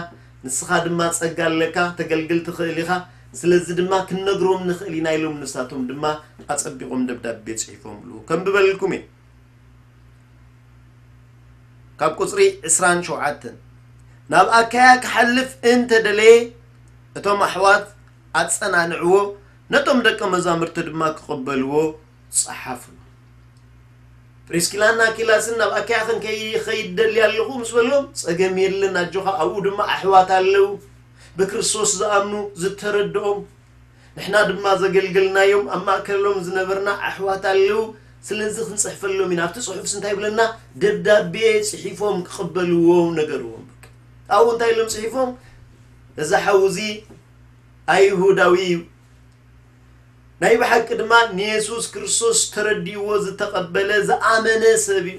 ንስኻ ድማ ጸጋ ኣለካ፣ ተገልግል ትኽእል ኢኻ፣ ስለዚ ድማ ክንነግሮም ንኽእል ኢና ኢሎም ንሳቶም ድማ ኣጸቢቖም ደብዳቤ ጽሒፎምሉ ከንብበልኩም እየ። ካብ ቁጽሪ ዕስራን ሸውዓተን ናብ ኣካያ ክሓልፍ እንተደለየ እቶም ኣሕዋት ኣጸናንዕዎ፣ ነቶም ደቀ መዛሙርቲ ድማ ክቕበልዎ ጸሓፍሉ። ፕሪስኪላን ኣኪላስን ናብ ኣካያ ክንከይድ ደልየ ኣለኹ ምስ በሎም፣ ጸገም የለን ኣጆኻ፣ ኣብኡ ድማ ኣሕዋት ኣለዉ ብክርስቶስ ዝኣምኑ ዝተረድኦም፣ ንሕና ድማ ዘገልገልናዮም ኣብ ማእከሎም ዝነበርና ኣሕዋት ኣለዉ፣ ስለዚ ክንጽሕፈሎም ኢና። ኣብቲ ጽሑፍስ እንታይ ይብለና? ደብዳቤ ጽሒፎም ክቕበልዎ ነገርዎም። ኣብኡ እንታይ ኢሎም ጽሒፎም? እዚ ሓው እዚ ኣይሁዳዊ እዩ፣ ናይ ብሓቂ ድማ ንየሱስ ክርስቶስ ተረዲእዎ ዝተቐበለ ዝኣመነ ሰብ እዩ።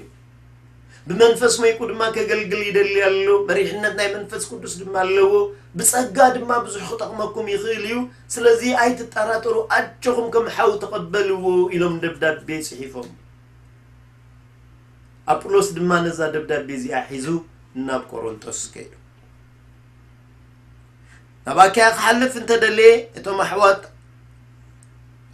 ብመንፈስ መይቁ ድማ ከገልግል ይደሊ ኣሎ። መሪሕነት ናይ መንፈስ ቅዱስ ድማ ኣለዎ። ብጸጋ ድማ ብዙሕ ክጠቕመኩም ይኽእል እዩ። ስለዚ ኣይትጠራጠሩ፣ ኣጆኹም ከም ሓው ተቐበልዎ ኢሎም ደብዳቤ ጽሒፎም። ኣጵሎስ ድማ ነዛ ደብዳቤ እዚኣ ሒዙ ናብ ቆሮንጦስ ከይዱ። ናብ ኣካያ ክሓልፍ እንተደለየ እቶም ኣሕዋት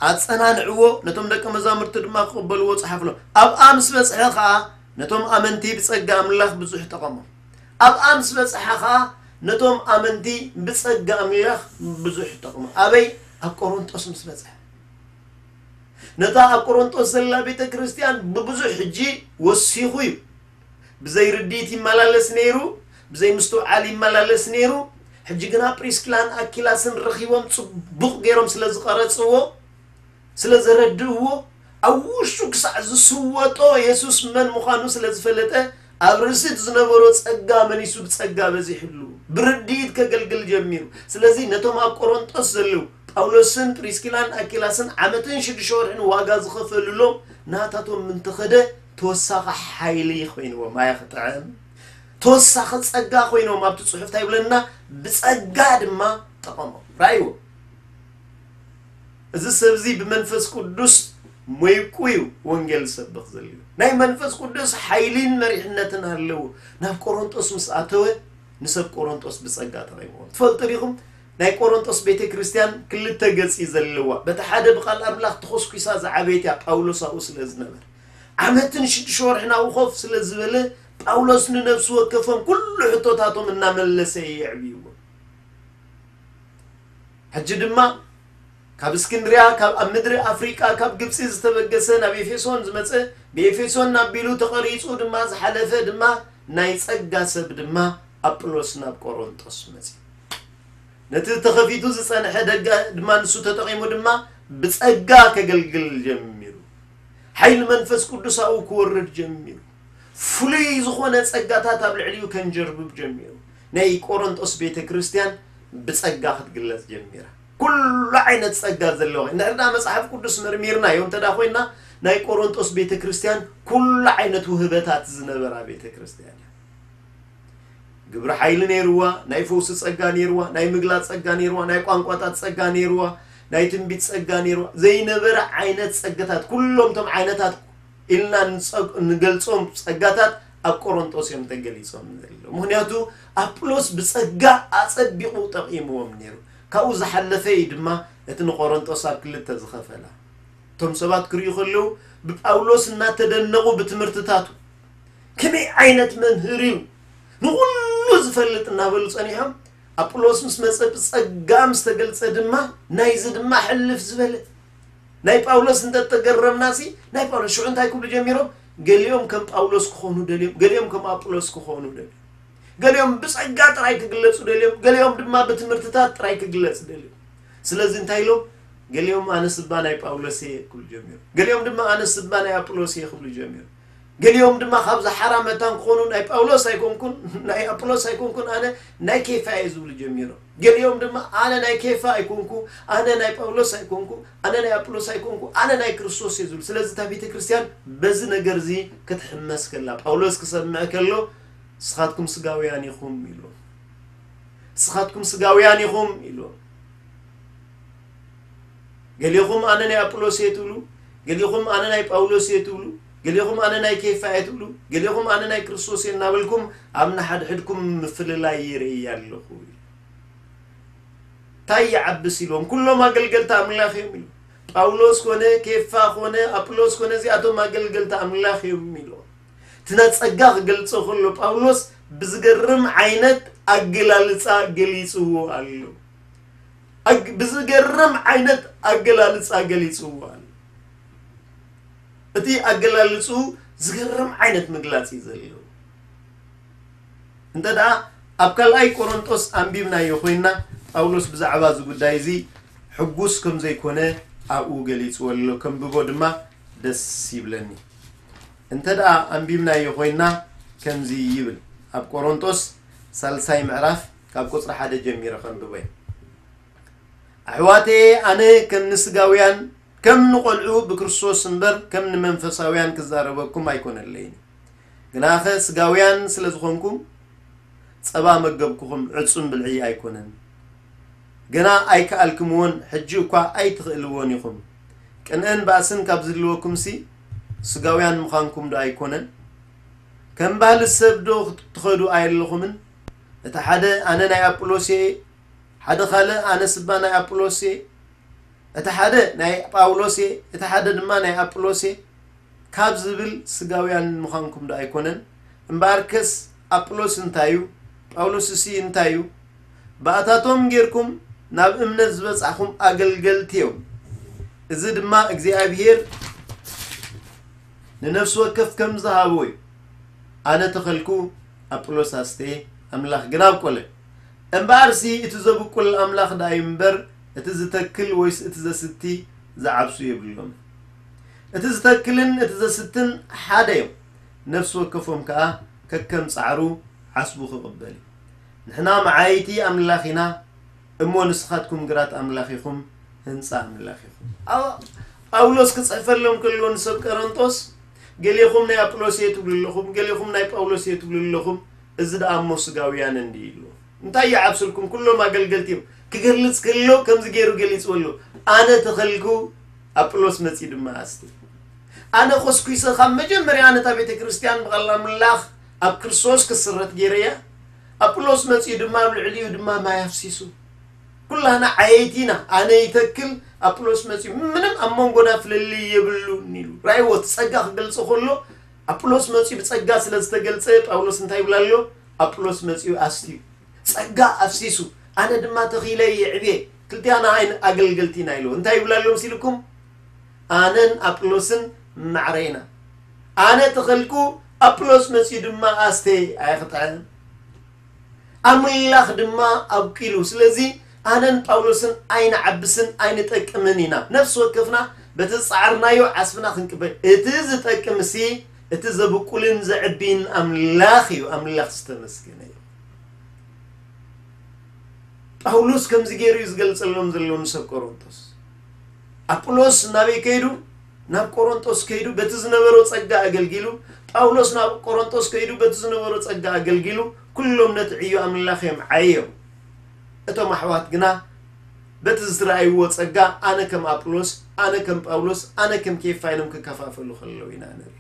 ኣጸናንዕዎ፣ ነቶም ደቀ መዛሙርቲ ድማ ክቕበልዎ ጸሓፍሎም። ኣብኣ ምስ በጽሐ ኸኣ ነቶም ኣመንቲ ብጸጋ ኣምላኽ ብዙሕ ጠቐሞም። ኣብኣ ምስ በጽሐ ኸኣ ነቶም ኣመንቲ ብጸጋ ኣምላኽ ብዙሕ ጠቕሞም። ኣበይ? ኣብ ቆሮንጦስ ምስ በጽሐ። ነታ ኣብ ቆሮንጦስ ዘላ ቤተ ክርስቲያን ብብዙሕ ሕጂ ወሲኹ እዩ። ብዘይ ርድኢት ይመላለስ ነይሩ፣ ብዘይ ምስትውዓል ይመላለስ ነይሩ። ሕጂ ግና ፕሪስኪላን ኣኪላስን ረኺቦም ጽቡቕ ገይሮም ስለ ዝቐረጽዎ፣ ስለ ዘረድእዎ፣ ኣብ ውሽጡ ክሳዕ ዝስወጦ የሱስ መን ምዃኑ ስለ ዝፈለጠ፣ ኣብ ርእሲ እቲ ዝነበሮ ጸጋ መሊሱ ብጸጋ በዚሕሉ፣ ብርድኢት ከገልግል ጀሚሩ። ስለዚ ነቶም ኣብ ቆሮንጦስ ዘለዉ ጳውሎስን ፕሪስኪላን ኣኪላስን ዓመትን ሽዱሽተ ወርሕን ዋጋ ዝኸፈሉሎም ናታቶም ምንተኸደ ተወሳኺ ሓይሊ ኮይንዎም። ኣያ ክጥዕም! ተወሳኺ ጸጋ ኮይንዎም። ኣብቲ ጽሑፍ እንታይ ይብለና? ብጸጋ ድማ ጠቐሞም። ራእይዎ። እዚ ሰብ እዚ ብመንፈስ ቅዱስ ሞይቁ እዩ ወንጌል ዝሰብኽ ዘሎ። ናይ መንፈስ ቅዱስ ሓይሊን መሪሕነትን ኣለዎ። ናብ ቆሮንጦስ ምስ ኣተወ ንሰብ ቆሮንጦስ ብጸጋ ጠቒምዎም። ትፈልጡ ዲኹም? ናይ ቆሮንጦስ ቤተ ክርስቲያን ክልተ ገጽ እዩ ዘለዋ። በቲ ሓደ ብቓል ኣምላኽ ተኾስኲሳ ዝዓበየት እያ፣ ጳውሎስ ኣብኡ ስለ ዝነበረ። ዓመትን ሽዱሽተ ወርሕን ኣብኡ ኮፍ ስለ ዝበለ ጳውሎስ ንነፍሲ ወከፎም ኩሉ ሕቶታቶም እናመለሰ እዩ የዕብይዎም። ሕጂ ድማ ካብ እስክንድርያ፣ ካብ ኣብ ምድሪ ኣፍሪቃ፣ ካብ ግብጺ ዝተበገሰ ናብ ኤፌሶን ዝመጸ፣ ብኤፌሶን ኣቢሉ ተቐሪጹ ድማ ዝሓለፈ ድማ ናይ ጸጋ ሰብ ድማ ኣጵሎስ ናብ ቆሮንጦስ መጺኡ። ነቲ ተኸፊቱ ዝጸንሐ ደገ ድማ ንሱ ተጠቒሙ ድማ ብጸጋ ከገልግል ጀሚሩ። ሓይሊ መንፈስ ቅዱስ ኣብኡ ክወርድ ጀሚሩ። ፍሉይ ዝኾነ ጸጋታት ኣብ ልዕሊኡ ከንጀርብብ ጀሚሩ። ናይ ቆሮንጦስ ቤተ ክርስቲያን ብጸጋ ክትግለጽ ጀሚራ። ኩሉ ዓይነት ጸጋ ዘለዎ። እንድሕር ደኣ መጽሓፍ ቅዱስ መርሚርናዮ እንተ ደኣ ኮይና፣ ናይ ቆሮንጦስ ቤተ ክርስቲያን ኩሉ ዓይነት ውህበታት ዝነበራ ቤተ ክርስቲያን እያ። ግብሪ ሓይሊ ነይርዋ፣ ናይ ፈውሲ ጸጋ ነይርዋ፣ ናይ ምግላጽ ጸጋ ነይርዋ፣ ናይ ቋንቋታት ጸጋ ነይርዋ፣ ናይ ትንቢት ጸጋ ነይርዋ። ዘይነበረ ዓይነት ጸጋታት፣ ኩሎም እቶም ዓይነታት ኢልና ንጸ-፣ ንገልጾም ጸጋታት ኣብ ቆሮንጦስ እዮም ተገሊጾም ዘለዉ። ምኽንያቱ ኣጵሎስ ብጸጋ ኣጸቢቑ ጠቒምዎም ነይሩ። ካብኡ ዝሓለፈ እዩ ድማ እቲ ንቆሮንጦስ ኣብ ክልተ ዝኸፈላ። እቶም ሰባት ክርእዩ ከለዉ ብጳውሎስ እናተደነቑ ብትምህርትታቱ፣ "ከመይ ዓይነት መምህር እዩ ንኹሉ ዝፈልጥ?" እናበሉ ጸኒሖም። ኣጵሎስ ምስ መጸ ብጸጋ ምስ ተገልጸ ድማ ናይዚ ድማ ሕልፍ ዝበለ። ናይ ጳውሎስ እንተተገረምናሲ ናይ ጳውሎስ ሽዑ እንታይ ክብሉ ጀሚሮም? ገሊኦም ከም ጳውሎስ ክኾኑ ደልዮም፣ ገሊኦም ከም ኣጵሎስ ክኾኑ ደልዮም፣ ገሊኦም ብጸጋ ጥራይ ክግለጹ ደልዮም፣ ገሊኦም ድማ ብትምህርትታት ጥራይ ክግለጽ ደልዮም። ስለዚ እንታይ ኢሎም? ገሊኦም ኣነስ እባ ናይ ጳውሎስ እየ ክብሉ ጀሚሮም፣ ገሊኦም ድማ ኣነስ እባ ናይ ኣጵሎስ እየ ክብሉ ጀሚሮም። ገሊኦም ድማ ካብዚ ሓራ መታን ክኾኑ ናይ ጳውሎስ ኣይኮንኩን ናይ ኣጵሎስ ኣይኮንኩን ኣነ ናይ ኬፋ እየ ዝብሉ ጀሚሮም። ገሊኦም ድማ ኣነ ናይ ኬፋ ኣይኮንኩ፣ ኣነ ናይ ጳውሎስ ኣይኮንኩ፣ ኣነ ናይ ኣጵሎስ ኣይኮንኩ፣ ኣነ ናይ ክርስቶስ እየ ዝብሉ። ስለዚ እታ ቤተ ክርስቲያን በዚ ነገር እዚ ክትሕመስ ከላ፣ ጳውሎስ ክሰምዕ ከሎ ንስኻትኩም ስጋውያን ኢኹም ኢሉ። ንስኻትኩም ስጋውያን ኢኹም ኢሉ። ገሊኹም ኣነ ናይ ኣጵሎስ እየ ትብሉ፣ ገሊኹም ኣነ ናይ ጳውሎስ እየ ትብሉ፣ ገሊኹም ኣነ ናይ ኬፋ እየ ትብሉ፣ ገሊኹም ኣነ ናይ ክርስቶስ እየ እናበልኩም ኣብ ንሓድሕድኩም ምፍልላይ ይርኢ ኣለኹ። እንታይ ይዓብስ ኢልዎም? ኩሎም ኣገልገልቲ ኣምላኽ እዮም ኢሉ። ጳውሎስ ኮነ፣ ኬፋ ኮነ፣ ኣጵሎስ ኮነ፣ እዚኣቶም ኣገልገልቲ ኣምላኽ እዮም ኢልዎም። እቲ ናይ ጸጋ ክገልጾ ከሎ ጳውሎስ ብዝገርም ዓይነት ኣገላልጻ ገሊጽዎ ኣሎ። ኣግ-፣ ብዝገርም ዓይነት ኣገላልጻ ገሊጽዎ ኣሎ። እቲ ኣገላልጹ ዝገርም ዓይነት ምግላጽ እዩ ዘለዎ። እንተ ደኣ ኣብ ካልኣይ ቆሮንጦስ ኣንቢብናዮ ኮይንና፣ ጳውሎስ ብዛዕባ እዚ ጉዳይ እዚ ሕጉስ ከም ዘይኮነ ኣብኡ ገሊጽዎ ኣሎ። ከንብቦ ድማ ደስ ይብለኒ። እንተ ደኣ ኣንቢብናዮ ኮይንና ከምዚ ይብል። ኣብ ቆሮንጦስ ሳልሳይ ምዕራፍ ካብ ቁጽሪ ሓደ ጀሚረ ከንብቦ እየ። ኣሕዋተየ፣ ኣነ ከም ንስጋውያን ከም ንቖልዑ ብክርስቶስ እምበር ከም ንመንፈሳውያን ክዛረበኩም ኣይኮነለይን። ግናኸ ስጋውያን ስለ ዝኾንኩም ጸባ መገብኩኹም፣ ዕጹም ብልዒ ኣይኮነን። ገና ኣይከኣልክምዎን፣ ሕጂ እኳ ኣይትኽእልዎን ኢኹም። ቅንእን ባእስን ካብ ዝህልወኩምሲ ስጋውያን ምዃንኩም ዶ ኣይኮነን? ከም ባህሊ ሰብ ዶ ትኸዱ ኣየለኹምን? እቲ ሓደ ኣነ ናይ ኣጵሎስ እየ፣ ሓደ ካልእ ኣነ ስባ ናይ ኣጵሎስ እየ፣ እቲ ሓደ ናይ ጳውሎስ እየ፣ እቲ ሓደ ድማ ናይ ኣጵሎስ እየ ካብ ዝብል ስጋውያን ምዃንኩም ዶ ኣይኮነን? እምበኣርከስ ኣጵሎስ እንታይ እዩ? ጳውሎስሲ እንታይ እዩ? ብኣታቶም ጌርኩም ናብ እምነት ዝበጻሕኹም ኣገልገልቲ እዮም። እዚ ድማ እግዚኣብሔር ንነፍሲ ወከፍ ከም ዝሃቦ እዩ። ኣነ ተኸልኩ፣ ኣጵሎስ ኣስተየ፣ ኣምላኽ ግን ኣብቆለ። እምበኣርሲ እቲ ዘብቁል ኣምላኽ ደኣ እዩ እምበር፣ እቲ ዝተክል ወይስ እቲ ዘስቲ ዝዓብሱ የብሎም። እቲ ዝተክልን እቲ ዘስትን ሓደ እዮም። ነፍሲ ወከፎም ከኣ ከከም ጻዕሩ ዓስቡ ክቕበል እዩ። ንሕና መዓይቲ ኣምላኽ ኢና፣ እሞ ንስኻትኩም ግራት ኣምላኽ ኢኹም፣ ህንጻ ኣምላኽ ኢኹም። ኣው-፣ ጳውሎስ ክጽሕፈሎም ከሎ ንሰብ ቀረንጦስ፣ ገሌኹም ናይ ኣጵሎስ እየ ትብሉ ኣለኹም፣ ገሌኹም ናይ ጳውሎስ እየ ትብሉ ኣለኹም፣ እዚ ደኣ እሞ ስጋውያን እንድዩ ኢሉ። እንታይ ይዓብስልኩም? ኩሎም ኣገልገልቲ እዮም። ክገልጽ ከሎ ከምዚ ገይሩ ገሊጽዎ ኣሎ። ኣነ ተኸልኩ፣ ኣጵሎስ መጺኡ ድማ ኣስቲ። ኣነ ኮስኩሰ ካብ መጀመርያ ነታ ቤተ ክርስቲያን ብቓል ኣምላኽ ኣብ ክርስቶስ ክስረት ገይረያ። ኣጵሎስ መጺኡ ድማ ኣብ ልዕሊኡ ድማ ማይ ኣፍሲሱ። ኩላህና ዓየይቲ ኢና። ኣነ ይተክል፣ ኣጵሎስ መጺኡ። ምንም ኣብ መንጎና ፍልልይ የብሉን ኢሉ። ራእይዎ፣ እቲ ጸጋ ክገልጾ ከሎ፣ ኣጵሎስ መጺኡ ብጸጋ ስለ ዝተገልጸ፣ ጳውሎስ እንታይ ይብላ ኣሎ? ኣጵሎስ መጺኡ ኣስትዩ። ጸጋ ኣፍሲሱ፣ ኣነ ድማ ተኺለ የዕብየ። ክልቲኣና ኣይን-፣ ኣገልገልቲ ኢና ኢሉ። እንታይ ይብላ ኣሎ መሲልኩም? ኣነን ኣጵሎስን ማዕረ ኢና። ኣነ ተኸልኩ፣ ኣጵሎስ መጺኡ ድማ ኣስተ ኣየኽጥዐን። ኣምላኽ ድማ ኣብቂሉ። ስለዚ ኣነን ጳውሎስን ኣይንዓብስን ኣይንጠቅምን ኢና። ነፍሲ ወከፍና በቲ ዝጸዓርናዮ ዓስብና ክንቅበል። እቲ ዝጠቅምሲ እቲ ዘብቁልን ዘዕቢን ኣምላኽ እዩ። ኣምላኽ ዝተመስገነ እዩ። ጳውሎስ ከምዚ ገይሩ እዩ ዝገልጸሎም ዘሎ ንሰብ ቆሮንቶስ። ኣጵሎስ ናበይ ከይዱ? ናብ ቆሮንቶስ ከይዱ በቲ ዝነበሮ ጸጋ ኣገልጊሉ። ጳውሎስ ናብ ቆሮንቶስ ከይዱ በቲ ዝነበሮ ጸጋ ኣገልጊሉ። ኩሎም ነቲ ዕዮ ኣምላኽ እዮም ዓዮም። እቶም ኣሕዋት ግና በቲ ዝረኣይዎ ጸጋ ኣነ ከም ኣጵሎስ፣ ኣነ ከም ጳውሎስ፣ ኣነ ከም ኬፋ ኢሎም ክከፋፈሉ ከለዉ ኢና ንርኢ።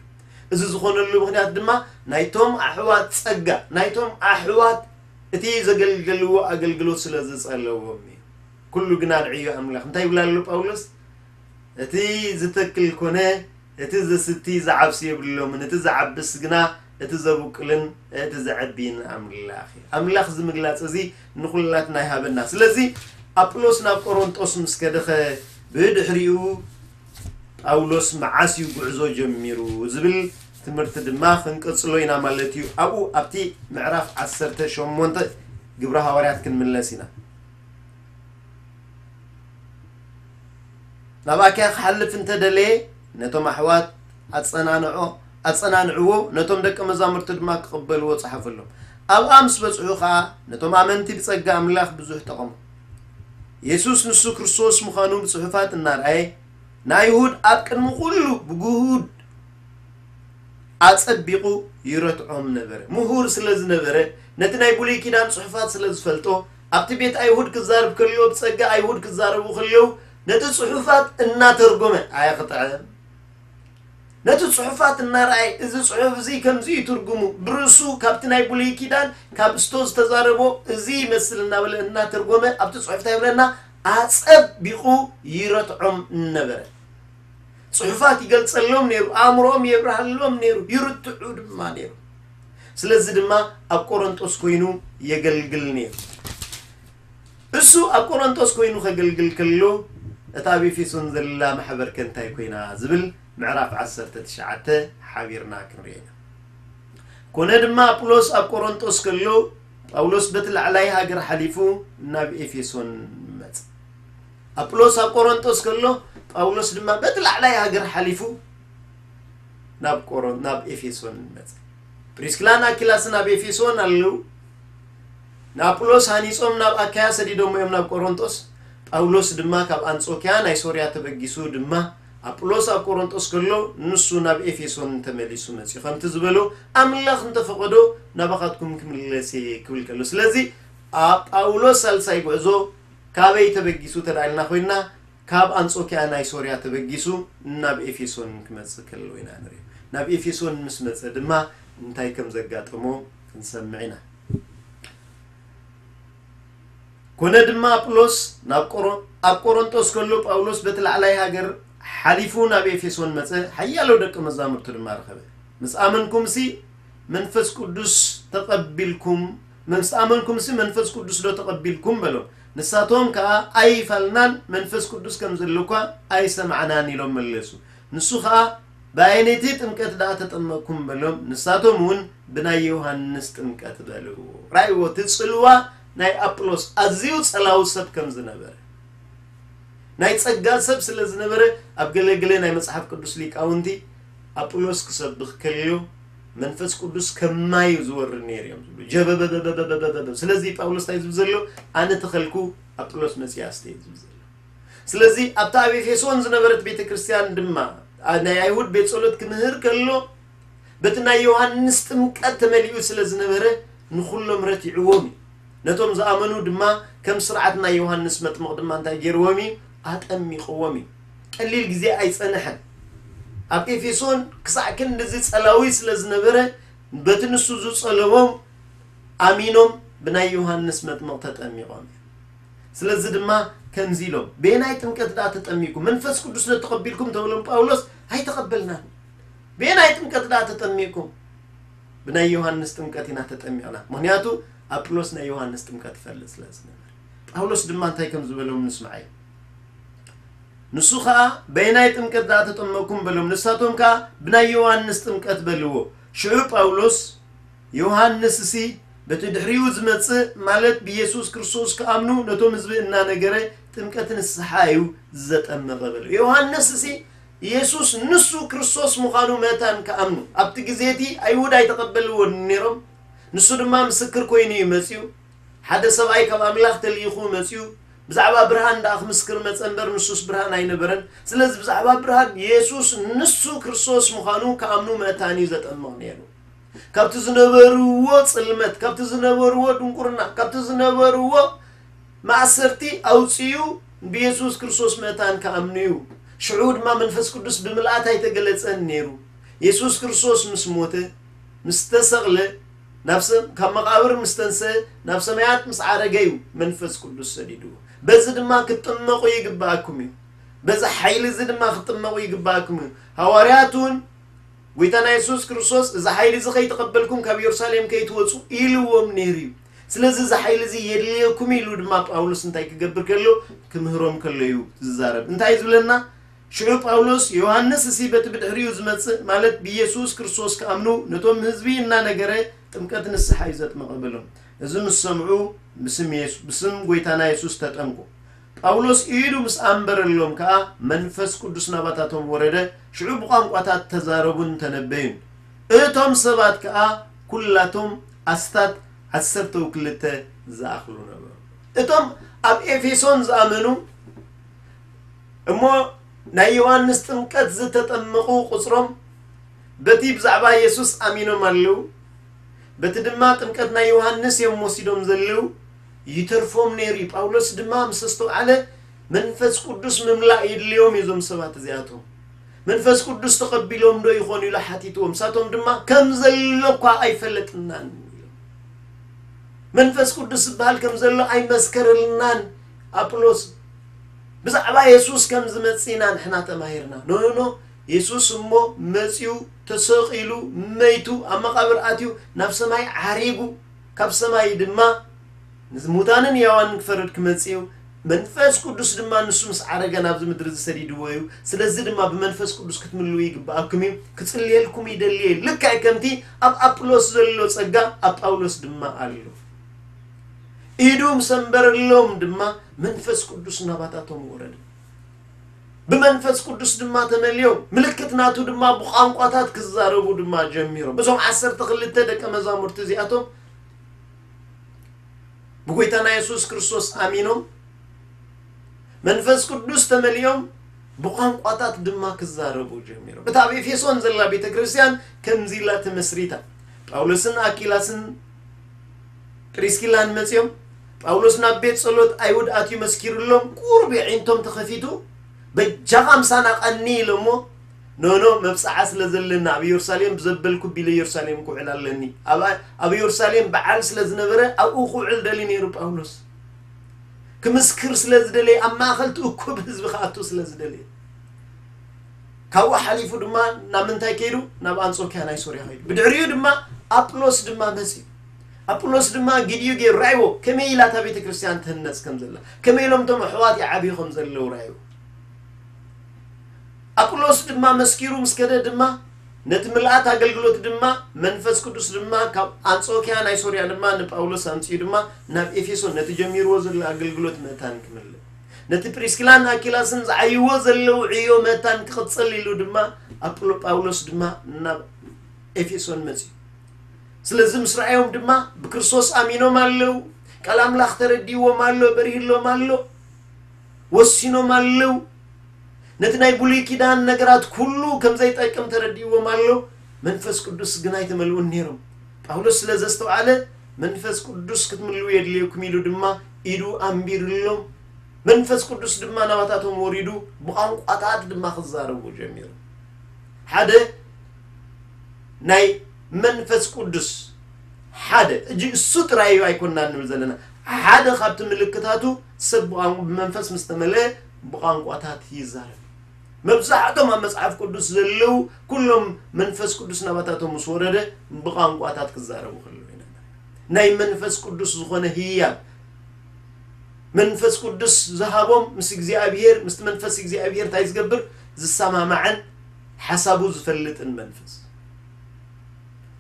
እዚ ዝኾነሉ ምኽንያት ድማ ናይቶም ኣሕዋት ጸጋ፣ ናይቶም ኣሕዋት እቲ ዘገልገልዎ ኣገልግሎት ስለ ዝጸለዎም እዩ። ኩሉ ግና ንዕዮ ኣምላኽ። እንታይ ይብላ ኣሎ ጳውሎስ? እቲ ዝተክል ኮነ፣ እቲ ዘስቲ ዝዓብስ የብሎምን፣ እቲ ዝዓብስ ግና እቲ ዘብቁልን እቲ ዘዕቢን ኣምላኽ እዩ። ኣምላኽ እዚ ምግላጽ እዚ ንኹላትና ይሃበና። ስለዚ ኣጵሎስ ናብ ቆሮንጦስ ምስ ከደኸ ብድሕሪኡ ጳውሎስ መዓስ እዩ ጉዕዞ ጀሚሩ ዝብል ትምህርቲ ድማ ክንቅጽሎ ኢና ማለት እዩ። ኣብኡ ኣብቲ ምዕራፍ ዓሰርተ ሸሞንተ ግብረ ሃዋርያት ክንምለስ ኢና። ናብ ኣኪያ ክሓልፍ እንተደለየ ነቶም ኣሕዋት ኣጸናንዖ-፣ ኣጸናንዕዎ፣ ነቶም ደቀ መዛሙርቲ ድማ ክቕበልዎ ጸሓፈሎም። ኣብኣ ምስ በጽሑ ኸኣ ነቶም ኣመንቲ ብጸጋ ኣምላኽ ብዙሕ ጠቐሙ። የሱስ ንሱ ክርስቶስ ምዃኑ ብጽሑፋት እናረኣየ ንኣይሁድ ኣብ ቅድሚ ኩሉ ብግሁድ ኣጸቢቑ ይረትዖም ነበረ። ምሁር ስለ ዝነበረ፣ ነቲ ናይ ብሉይ ኪዳን ጽሑፋት ስለ ዝፈልጦ፣ ኣብቲ ቤት ኣይሁድ ክዛረብ ከሎ፣ ብጸጋ ኣይሁድ ክዛረቡ ከለዉ፣ ነቲ ጽሑፋት እናተርጎመ ኣየኽጥዐን። እቲ ጽሑፋት እናረኣየ፣ እዚ ጽሑፍ እዚ ከምዚ እዩ ትርጉሙ፣ ብርእሱ ካብቲ ናይ ብሉይ ኪዳን ካብ ስቶ ዝተዛረቦ እዚ ይመስል እናበለ እናተርጎመ ኣብቲ ጽሑፍ እንታይ ይብለና? ኣጸቢቑ ይረትዖም ነበረ። ጽሑፋት ይገልጸሎም ነይሩ፣ ኣእምሮኦም የብርሃሎም ነይሩ፣ ይርትዑ ድማ ነይሩ። ስለዚ ድማ ኣብ ቆሮንጦስ ኮይኑ የገልግል ነይሩ። እሱ ኣብ ቆሮንጦስ ኮይኑ ከገልግል ከሎ፣ እታ ኣብ ኤፌሶን ዘላ ማሕበር ከ እንታይ ኮይና ዝብል ምዕራፍ ዓሰርተ ትሽዓተ ሓቢርና ክንሪኦ ኢና። ኮነ ድማ ኣጵሎስ ኣብ ቆሮንጦስ ከሎ፣ ጳውሎስ በቲ ላዕላይ ሃገር ሓሊፉ ናብ ኤፌሶን መጸ። ኣጵሎስ ኣብ ቆሮንጦስ ከሎ፣ ጳውሎስ ድማ በቲ ላዕላይ ሃገር ሓሊፉ ናብ ቆሮን ናብ ኤፌሶን መጸ። ፕሪስክላን ኣኪላስን ኣብ ኤፌሶን ኣለዉ። ንኣጵሎስ ሃኒጾም ናብ ኣካያ ሰዲዶሞ እዮም ናብ ቆሮንጦስ። ጳውሎስ ድማ ካብ ኣንጾኪያ ናይ ሶርያ ተበጊሱ ድማ ኣጵሎስ ኣብ ቆሮንጦስ ከሎ ንሱ ናብ ኤፌሶን ተመሊሱ መጺኡ። ከምቲ ዝበሎ ኣምላኽ እንተፈቐዶ ናባኻትኩም ክምለስ እየ ክብል ከሎ። ስለዚ ኣብ ጳውሎስ ሳልሳይ ጉዕዞ ካበይ ተበጊሱ ተዳልና ኮይና ካብ ኣንጾኪያ ናይ ሶርያ ተበጊሱ ናብ ኤፌሶን ክመጽእ ከሎ ኢና ንርኢ። ናብ ኤፌሶን ምስ መጸ ድማ እንታይ ከም ዘጋጠሞ ክንሰምዕ ኢና። ኮነ ድማ ኣጵሎስ ናብ ቆሮ ኣብ ቆሮንጦስ ከሎ ጳውሎስ በቲ ላዕላይ ሃገር ሓሊፉ ናብ ኤፌሶን መጸ። ሓያሎ ደቂ መዛሙርቱ ድማ ረኸበ። ምስ ኣመንኩምሲ መንፈስ ቅዱስ ተቐቢልኩም ምስ ኣመንኩምሲ መንፈስ ቅዱስ ዶ ተቐቢልኩም በሎም። ንሳቶም ከኣ ኣይፋልናን መንፈስ ቅዱስ ከም ዘሎ እኳ ኣይሰማዕናን ኢሎም መለሱ። ንሱ ኸኣ ብኣየነይቲ ጥምቀት ደኣ ተጠመቕኩም በሎም። ንሳቶም እውን ብናይ ዮሃንስ ጥምቀት በልዎ። ራእይዎ እቲ ጽልዋ ናይ ኣጵሎስ ኣዝዩ ጸላዊ ሰብ ከም ዝነበረ ናይ ጸጋ ሰብ ስለ ዝነበረ ኣብ ገለገለ ናይ መጽሓፍ ቅዱስ ሊቃውንቲ ኣጵሎስ ክሰብኽ ከልዮ መንፈስ ቅዱስ ከማይ እዩ ዝወርድ ነይሩ እዮም ዝብሉ ጀበበበበበበበበ ስለዚ ጳውሎስ እንታይ ዝብል ዘሎ ኣነ ተኸልኩ ኣጵሎስ መጽያ ኣስተየ ዝብል ዘሎ ስለዚ ኣብታ ኣብ ኤፌሶን ዝነበረት ቤተ ክርስቲያን ድማ ናይ ኣይሁድ ቤት ጸሎት ክምህር ከሎ በቲ ናይ ዮሃንስ ጥምቀት ተመሊኡ ስለ ዝነበረ ንኹሎም ረቲዕዎም እዩ። ነቶም ዝኣመኑ ድማ ከም ስርዓት ናይ ዮሃንስ መጥምቕ ድማ እንታይ ገይርዎም እዩ? ኣጠሚቕዎም እዩ። ቀሊል ግዜ ኣይጸንሐን። ኣብ ኤፌሶን ክሳዕ ክንድዚ ጸላዊ ስለ ዝነበረ በቲ ንሱ ዝጸለዎም ኣሚኖም ብናይ ዮሃንስ መጥምቕ ተጠሚቖም እዮም። ስለዚ ድማ ከምዚ ኢሎም፣ በየናይ ጥምቀት ደኣ ተጠሚኩም? መንፈስ ቅዱስ ዶ ተቐቢልኩም? ተብሎም ጳውሎስ፣ ኣይተቐበልናን። በየናይ ጥምቀት ደኣ ተጠሚኩም? ብናይ ዮሃንስ ጥምቀት ኢና ተጠሚቕና። ምኽንያቱ ኣጵሎስ ናይ ዮሃንስ ጥምቀት ይፈልጥ ስለ ዝነበረ። ጳውሎስ ድማ እንታይ ከም ዝበሎም ንስማዓይ። ንሱ ኸኣ በየናይ ጥምቀት ደኣ ተጠመኩም በሎም። ንሳቶም ከኣ ብናይ ዮሃንስ ጥምቀት በልዎ። ሽዑ ጳውሎስ ዮሃንስሲ በቲ ድሕሪኡ ዝመጽእ ማለት ብኢየሱስ ክርስቶስ ክኣምኑ ነቶም ህዝቢ እናነገረ ጥምቀት ንስሓ እዩ ዘጠመቐ በለ። ዮሃንስሲ ኢየሱስ ንሱ ክርስቶስ ምዃኑ መታን ክኣምኑ ኣብቲ ግዜ እቲ ኣይሁድ ኣይተቐበልዎን ነይሮም። ንሱ ድማ ምስክር ኮይኑ እዩ መጺኡ። ሓደ ሰብኣይ ካብ ኣምላኽ ተልኢኹ መጺኡ ብዛዕባ ብርሃን ደኣ ክምስክር መጸ እምበር ንሱስ ብርሃን ኣይነበረን። ስለዚ ብዛዕባ ብርሃን ኢየሱስ ንሱ ክርስቶስ ምዃኑ ክኣምኑ መታን እዩ ዘጠምቕ ነይሩ። ካብቲ ዝነበርዎ ጽልመት ካብቲ ዝነበርዎ ድንቁርና ካብቲ ዝነበርዎ ማእሰርቲ ኣውፅኡ ብየሱስ ክርስቶስ ምእታን ክኣምኑ እዩ። ሽዑ ድማ መንፈስ ቅዱስ ብምልኣት ኣይተገለጸን ነይሩ። የሱስ ክርስቶስ ምስ ሞተ ምስ ተሰቕለ ናብ ሰም ካብ መቓብር ምስ ተንሰ ናብ ሰማያት ምስ ዓረገ እዩ መንፈስ ቅዱስ ሰዲድዎ። በዚ ድማ ክትጥመቑ ይግባኣኩም እዩ። በዚ ሓይሊ እዚ ድማ ክትጥመቑ ይግባኣኩም እዩ። ሃዋርያት እውን ጎይታና የሱስ ክርስቶስ እዚ ሓይሊ እዚ ከይተቐበልኩም ካብ የሩሳሌም ከይትወፁ ኢልዎም ነይሩ እዩ። ስለዚ እዚ ሓይሊ እዚ የድልየኩም ኢሉ ድማ ጳውሎስ እንታይ ክገብር ከሎ ክምህሮም ከሎ እዩ ዝዛረብ። እንታይ ዝብለና? ሽዑ ጳውሎስ ዮሃንስ እሲ በቲ ብድሕሪኡ ዝመጽእ ማለት ብኢየሱስ ክርስቶስ ክኣምኑ ነቶም ህዝቢ እናነገረ ጥምቀት ንስሓ እዩ ዘጥመቐ በሎም። እዚ ምስ ሰምዑ ብስም የሱ ብስም ጎይታና የሱስ ተጠምቁ። ጳውሎስ ኢዱ ምስ ኣንበረሎም ከኣ መንፈስ ቅዱስ ናባታቶም ወረደ። ሽዑ ብቋንቋታት ተዛረቡን ተነበዩን። እቶም ሰባት ከኣ ኩላቶም ኣስታት ዓሰርተው ክልተ ዝኣኽሉ ነበሩ። እቶም ኣብ ኤፌሶን ዝኣመኑ እሞ ናይ ዮሃንስ ጥምቀት ዝተጠመቑ ቁጽሮም በቲ ብዛዕባ የሱስ ኣሚኖም ኣለዉ። በቲ ድማ ጥምቀት ናይ ዮሃንስ እዮም ወሲዶም ዘለዉ። ይተርፎም ነይሩ እዩ። ጳውሎስ ድማ ምስ ኣስተውዓለ መንፈስ ቅዱስ ምምላእ የድልዮም እዩ እዞም ሰባት እዚኣቶም። መንፈስ ቅዱስ ተቐቢሎም ዶ ይኾኑ ኢሉ ሓቲትዎም። ንሳቶም ድማ ከም ዘሎ እኳ ኣይፈለጥናን ኢሎም። መንፈስ ቅዱስ ዝበሃል ከም ዘሎ ኣይመስከረልናን ኣጵሎስ። ብዛዕባ የሱስ ከም ዝመጽእ ኢና ንሕና ተማሂርና። ኖ ኖ ኖ፣ የሱስ እሞ መጺኡ፣ ተሰቒሉ፣ መይቱ፣ ኣብ መቓብር ኣትዩ፣ ናብ ሰማይ ዓሪጉ፣ ካብ ሰማይ ድማ ንሙታንን ሕያዋንን ክፈርድ ክመጽእ እዩ። መንፈስ ቅዱስ ድማ ንሱ ምስ ዓረገ ናብዚ ምድሪ ዝሰዲድዎ እዩ። ስለዚ ድማ ብመንፈስ ቅዱስ ክትምልኡ ይግብኣኩም እዩ። ክጽልየልኩም ይደሊ እየ። ልክዕ ከምቲ ኣብ ኣጵሎስ ዘሎ ጸጋ ኣብ ጳውሎስ ድማ ኣሎ። ኢዱ ምስ ኣንበረሎም ድማ መንፈስ ቅዱስ ናባታቶም ወረደ። ብመንፈስ ቅዱስ ድማ ተመልዮም፣ ምልክት ናቱ ድማ ብቋንቋታት ክዛረቡ ድማ ጀሚሮም። እዞም ዓሰርተ ክልተ ደቀ መዛሙርቲ እዚኣቶም ብጎይታና የሱስ ክርስቶስ ኣሚኖም፣ መንፈስ ቅዱስ ተመሊኦም፣ ብቋንቋታት ድማ ክዛረቡ ጀሚሮም። እታ ኣብ ኤፌሶን ዘላ ቤተ ክርስቲያን ከምዚ ኢላ ተመስሪታ። ጳውሎስን ኣኪላስን ፕሪስኪላን መጺኦም፣ ጳውሎስ ናብ ቤት ጸሎት ኣይሁድ ኣትዩ መስኪሩሎም፣ ቁሩብ የዒንቶም ተኸፊቱ፣ በጃኻ ምሳና ቀኒ ኢሎሞ፣ ኖ ኖ፣ መብጽዓ ስለ ዘለና ኣብ ኢየሩሳሌም ብዘበልኩ ቢለ ኢየሩሳሌም ክውዕል ኣለኒ። ኣብ ኣብ ኢየሩሳሌም በዓል ስለ ዝነበረ ኣብኡ ክውዕል ደልዩ ነይሩ ጳውሎስ። ክምስክር ስለ ዝደለየ፣ ኣብ ማእከል እቲ እኩብ ህዝቢ ክኣቱ ስለ ዝደለየ። ካብኡ ሓሊፉ ድማ ናብ ምንታይ ከይዱ? ናብ ኣንጾክያ ናይ ሶርያ ከይዱ። ብድሕሪኡ ድማ ኣጵሎስ ድማ መጺኡ። ኣጵሎስ ድማ ግዲኡ ገይሩ ረኣይዎ፣ ከመይ ኢላ እታ ቤተ ክርስቲያን ትህነጽ ከም ዘላ፣ ከመይ ኢሎም እቶም ኣሕዋት ይዓብዩ ከም ዘለዉ ረኣይዎ። ኣጵሎስ ድማ መስኪሩ ምስ ከደ ድማ ነቲ ምልኣት ኣገልግሎት ድማ መንፈስ ቅዱስ ድማ ካብ ኣንጾክያ ናይ ሶርያ ድማ ንጳውሎስ ኣምጺኡ ድማ ናብ ኤፌሶን ነቲ ጀሚርዎ ዘሎ ኣገልግሎት መታን ክምልእ፣ ነቲ ፕሪስኪላን ኣኪላስን ዝዓይዎ ዘለዉ ዕዮ መታን ክቕጽል ኢሉ ድማ ኣጵሎ-፣ ጳውሎስ ድማ ናብ ኤፌሶን መጺኡ። ስለዚ ምስ ረኣዮም ድማ ብክርስቶስ ኣሚኖም ኣለዉ፣ ቃል ኣምላኽ ተረዲዎም ኣሎ፣ በሪህሎም ኣሎ፣ ወሲኖም ኣለዉ። ነቲ ናይ ብሉይ ኪዳን ነገራት ኩሉ ከም ዘይጠቅም ተረዲዎም ኣሎ። መንፈስ ቅዱስ ግን ኣይተመልኡን ነይሮም። ጳውሎስ ስለ ዘስተውዓለ፣ መንፈስ ቅዱስ ክትምልኡ የድልየኩም ኢሉ ድማ ኢዱ ኣንቢርሎም። መንፈስ ቅዱስ ድማ ናባታቶም ወሪዱ፣ ብቋንቋታት ድማ ክዛረቡ ጀሚሩ። ሓደ ናይ መንፈስ ቅዱስ ሓደ፣ እጂ እሱ ጥራይ እዩ ኣይኮንና ንብል ዘለና። ሓደ ካብቲ ምልክታቱ ሰብ ብቋን-፣ ብመንፈስ ምስ ተመልአ ብቋንቋታት ይዛረብ። መብዛሕቶም ኣብ መጽሓፍ ቅዱስ ዘለዉ ኩሎም መንፈስ ቅዱስ ናባታቶም ምስ ወረደ ብቋንቋታት ክዛረቡ ከለዉ ኢና ንርኢ። ናይ መንፈስ ቅዱስ ዝኾነ ህያብ መንፈስ ቅዱስ ዝሃቦም ምስ እግዚኣብሔር፣ ምስቲ መንፈስ እግዚኣብሔር እንታይ ዝገብር? ዝሰማማዕን ሓሳቡ ዝፈልጥን መንፈስ።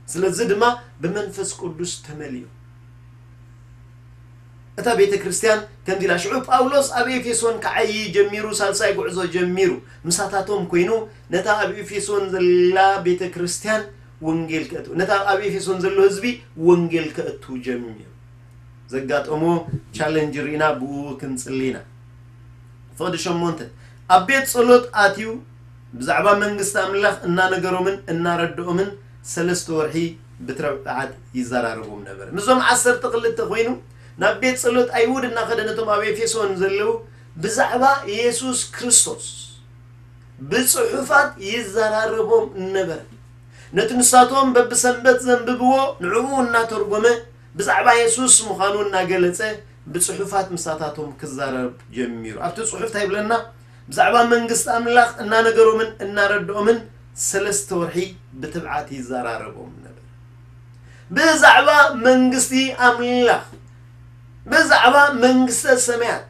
ስለዚ ድማ ብመንፈስ ቅዱስ ተመልዩ። እታ ቤተ ክርስቲያን ከምዚ ኢላ፣ ሽዑ ጳውሎስ ኣብ ኤፌሶን ክዓዪ ጀሚሩ፣ ሳልሳይ ጉዕዞ ጀሚሩ፣ ምሳታቶም ኮይኑ፣ ነታ ኣብ ኤፌሶን ዘላ ቤተ ክርስቲያን ወንጌል ከእቱ፣ ነታ ኣብ ኤፌሶን ዘሎ ህዝቢ ወንጌል ከእቱ ጀሚሩ። ዘጋጠሞ ቻለንጅ ርኢና ብኡ ክንጽሊ ኢና። ፍቕዲ ሸሞንተ፣ ኣብ ቤት ጸሎት ኣትዩ ብዛዕባ መንግስቲ ኣምላኽ እናነገሮምን እናረድኦምን ሰለስተ ወርሒ ብትብዓት ይዘራረቦም ነበረ። ምስዞም ዓሰርተ ክልተ ኮይኑ ናብ ቤት ጸሎት ኣይሁድ እናኸደ ነቶም ኣብ ኤፌሶን ዘለዉ ብዛዕባ የሱስ ክርስቶስ ብጽሑፋት ይዘራረቦም ነበረ። ነቲ ንሳቶም በብሰንበት ዘንብብዎ ንዕኡ እናተርጎመ ብዛዕባ የሱስ ምዃኑ እናገለጸ ብጽሑፋት ምሳታቶም ክዛረብ ጀሚሩ። ኣብቲ ጽሑፍ እንታይ ይብለና? ብዛዕባ መንግስቲ ኣምላኽ እናነገሮምን እናረድኦምን ሰለስተ ወርሒ ብትብዓት ይዘራረቦም ነበረ። ብዛዕባ መንግስቲ ኣምላኽ፣ ብዛዕባ መንግስተ ሰማያት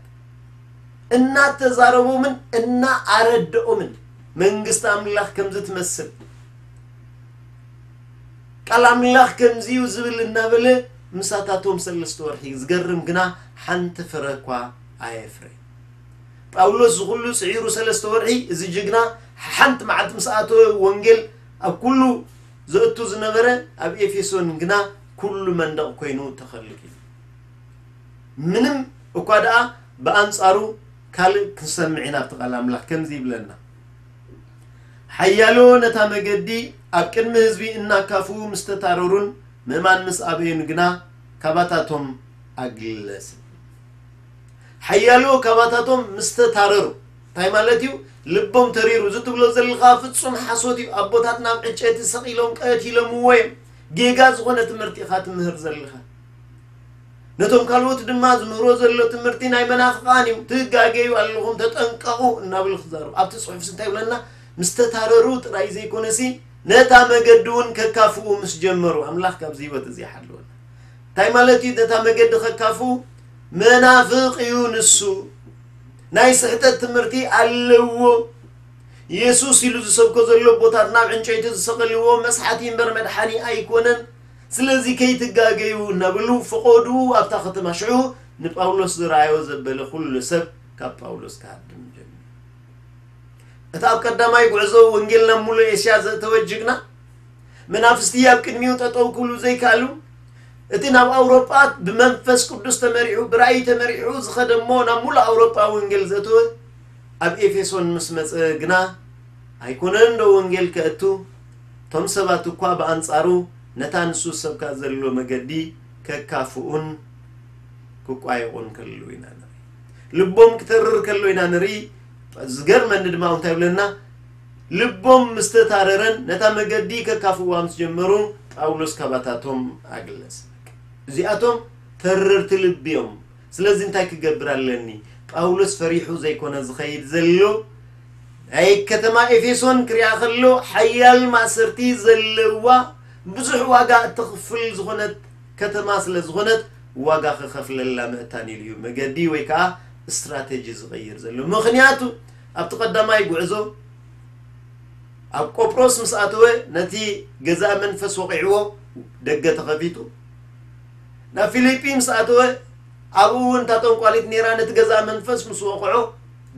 እናተዛረቦምን እናኣረድኦምን መንግስቲ ኣምላኽ ከምዚ ትመስል፣ ቃል ኣምላኽ ከምዚዩ ዝብል እናበለ ምሳታቶም ሰለስተ ወርሒ። ዝገርም ግና ሓንቲ ፍረ እኳ ኣየፍረየን። ጳውሎስ ዝኹሉ ጽዒሩ ሰለስተ ወርሒ፣ እዚ ጅግና ሓንቲ መዓልቲ ምስ ኣተወ ወንጌል ኣብ ኩሉ ዘእቱ ዝነበረ ኣብ ኤፌሶን ግና ኩሉ መንደቕ ኮይኑ ተኸልኪሉ። ምንም እኳ ደኣ ብኣንጻሩ ካልእ ክንሰምዕ ኢና። ኣብቲ ቃል ኣምላኽ ከምዚ ይብለና፣ ሓያሎ ነታ መገዲ ኣብ ቅድሚ ህዝቢ እናካፉ ምስ ተታረሩን ምእማን ምስ ኣበዩን ግና ካባታቶም ኣግለሰ። ሓያሎ ካባታቶም ምስ ተታረሩ፣ እንታይ ማለት እዩ? ልቦም ተሪሩ። እዚ ትብሎ ዘለኻ ፍጹም ሓሶት እዩ። ኣቦታትና ኣብ ዕጨይቲ ሰቒሎም ቀቲሎምዎ እዮም። ጌጋ ዝኾነ ትምህርቲ ኢኻ ትምህር ዘለኻ። ነቶም ካልኦት ድማ ዝምህሮ ዘሎ ትምህርቲ ናይ መናፍቓን እዩ። ትጋገዩ ኣለኹም፣ ተጠንቀቑ እናብሉ ክዛረቡ። ኣብቲ ጽሑፍሲ እንታይ ይብለና? ምስ ተታረሩ ጥራይ ዘይኮነሲ፣ ነታ መገዲ እውን ከካፍኡ ምስ ጀመሩ፣ ኣምላኽ ካብዚ ህይወት እዚ ይሓልወና። እንታይ ማለት እዩ? ነታ መገዲ ከካፍኡ፣ መናፍቕ እዩ ንሱ። ናይ ስሕተት ትምህርቲ ኣለዎ። የሱስ ኢሉ ዝሰብኮ ዘሎ ኣቦታትና ኣብ ዕንጨይቲ ዝሰቐልዎ መስሓቲ እምበር መድሓኒ ኣይኮነን። ስለዚ ከይትጋገዩ እናበሉ ፈቐዱ ኣብታ ከተማ። ሽዑ ንጳውሎስ ዝረኣዮ ዘበለ ኩሉ ሰብ ካብ ጳውሎስ ክሃድም ጀሚሩ። እቲ ኣብ ቀዳማይ ጉዕዞ ወንጌል ናብ ሙሉእ ኤስያ ዘእተወ ጅግና፣ መናፍስቲ ኣብ ቅድሚኡ ጠጠው ክብሉ ዘይከኣሉ፣ እቲ ናብ ኣውሮጳ ብመንፈስ ቅዱስ ተመሪሑ፣ ብራእይ ተመሪሑ ዝኸደ እሞ ናብ ሙሉእ ኣውሮጳ ወንጌል ዘእተወ፣ ኣብ ኤፌሶን ምስ መጸ ግና፣ ኣይኮነን ዶ ወንጌል ከእቱ? እቶም ሰባት እኳ ብኣንጻሩ ነታ ንሱ ዝሰብካ ዘሎ መገዲ ከካፍኡን ክቋየቑን ከለዉ ኢና ንርኢ። ልቦም ክተርር ከሎ ኢና ንርኢ። ዝገርመኒ ድማ እንታይ ይብለና? ልቦም ምስ ተታረረን ነታ መገዲ ከካፍእዋ ምስ ጀመሩ፣ ጳውሎስ ካባታቶም ኣግለሰ። እዚኣቶም ተረርቲ ልቢ እዮም። ስለዚ እንታይ ክገብር ኣለኒ? ጳውሎስ ፈሪሑ ዘይኮነ ዝኸይድ ዘሎ፣ ናይ ከተማ ኤፌሶን ክሪኣ ከሎ ሓያል ማእሰርቲ ዘለዋ፣ ብዙሕ ዋጋ እተኽፍል ዝኾነት ከተማ ስለ ዝኾነት፣ ዋጋ ክኸፍለላ ምእታን ኢሉ እዩ መገዲ ወይ ከዓ ስትራቴጂ ዝቐይር ዘሎ። ምኽንያቱ ኣብቲ ቀዳማይ ጉዕዞ ኣብ ቆጵሮስ ምስ ኣተወ፣ ነቲ ገዛእ መንፈስ ወቒዕዎ፣ ደገ ተኸፊቱ። ናብ ፊልጲ ምስ ኣተወ፣ ኣብኡ እውን እታ ጠንቋሊት ነይራ፣ ነቲ ገዛእ መንፈስ ምስ ወቕዖ፣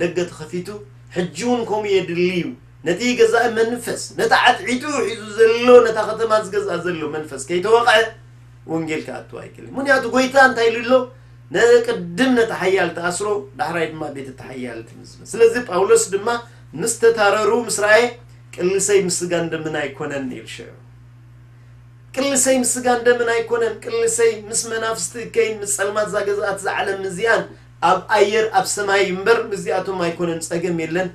ደገ ተኸፊቱ። ሕጂ እውን ከምኡ የድሊ እዩ። ነቲ ገዛእ መንፈስ፣ ነቲ ዓትዒቱ ሒዙ ዘሎ፣ ነታ ከተማ ዝገዝኣ ዘሎ መንፈስ ከይተወቕዐ፣ ወንጌል ክኣቱ ኣይክእልን። ምኽንያቱ ጎይታ እንታይ ኢሉ ኣሎ? "ነቅድም ነቲ ሓያል ተኣስሮ፣ ዳሕራይ ድማ ቤት እቲ ሓያል ትምዝመዝ." ስለዚ ጳውሎስ ድማ ምስ ተታረሩ ምስ ረኣየ፣ "ቅልሰይ ምስ ስጋን ደምን ኣይኮነን" ኢሉ ሽዑ። "ቅልሰይ ምስ ስጋን ደምን ኣይኮነን፣ ቅልሰይ ምስ መናፍስቲ እከይን ምስ ጸልማት እዛ ገዛኣት እዛ ዓለም እዚኣን ኣብ ኣየር ኣብ ሰማይ እምበር ምስዚኣቶም ኣይኮነን፣ ጸገም የለን፣